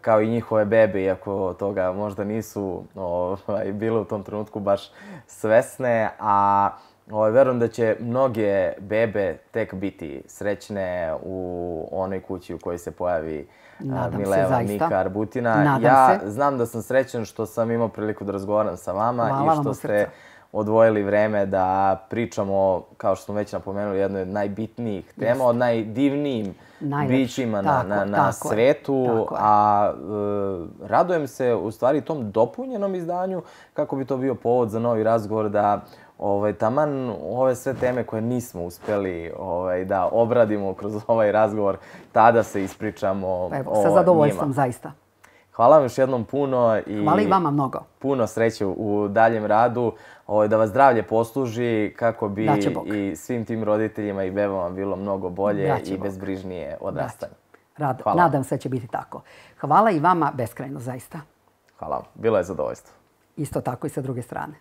kao i njihove bebe, iako toga možda nisu ovaj, bile u tom trenutku baš svesne, a ovaj, verujem da će mnoge bebe tek biti srećne u onoj kući u kojoj se pojavi Nadam Mileva se, Nika Arbutina. Nadam ja se. znam da sam srećan što sam imao priliku da razgovaram sa vama. Hvala I što vam ste odvojili vreme da pričamo, kao što smo već napomenuli, jednoj od najbitnijih tema, Jest. od najdivnijim Najlepše. bićima Tako, na, na, na tako je, svetu. tako je. A e, radujem se u stvari tom dopunjenom izdanju, kako bi to bio povod za novi razgovor, da ovaj, taman ove sve teme koje nismo uspeli ovaj, da obradimo kroz ovaj razgovor, tada se ispričamo Evo, o sa zadovoljstvom, njima. zaista. Hvala vam još jednom puno i Hvala i vama mnogo. puno sreće u daljem radu, ovaj, da vas zdravlje posluži kako bi Daće Bog. i svim tim roditeljima i bebama bilo mnogo bolje Daće i Bog. bezbrižnije odrastanje. Rad, Hvala. nadam se da će biti tako. Hvala i vama beskrajno, zaista. Hvala vam. Bilo je zadovoljstvo. Isto tako i sa druge strane.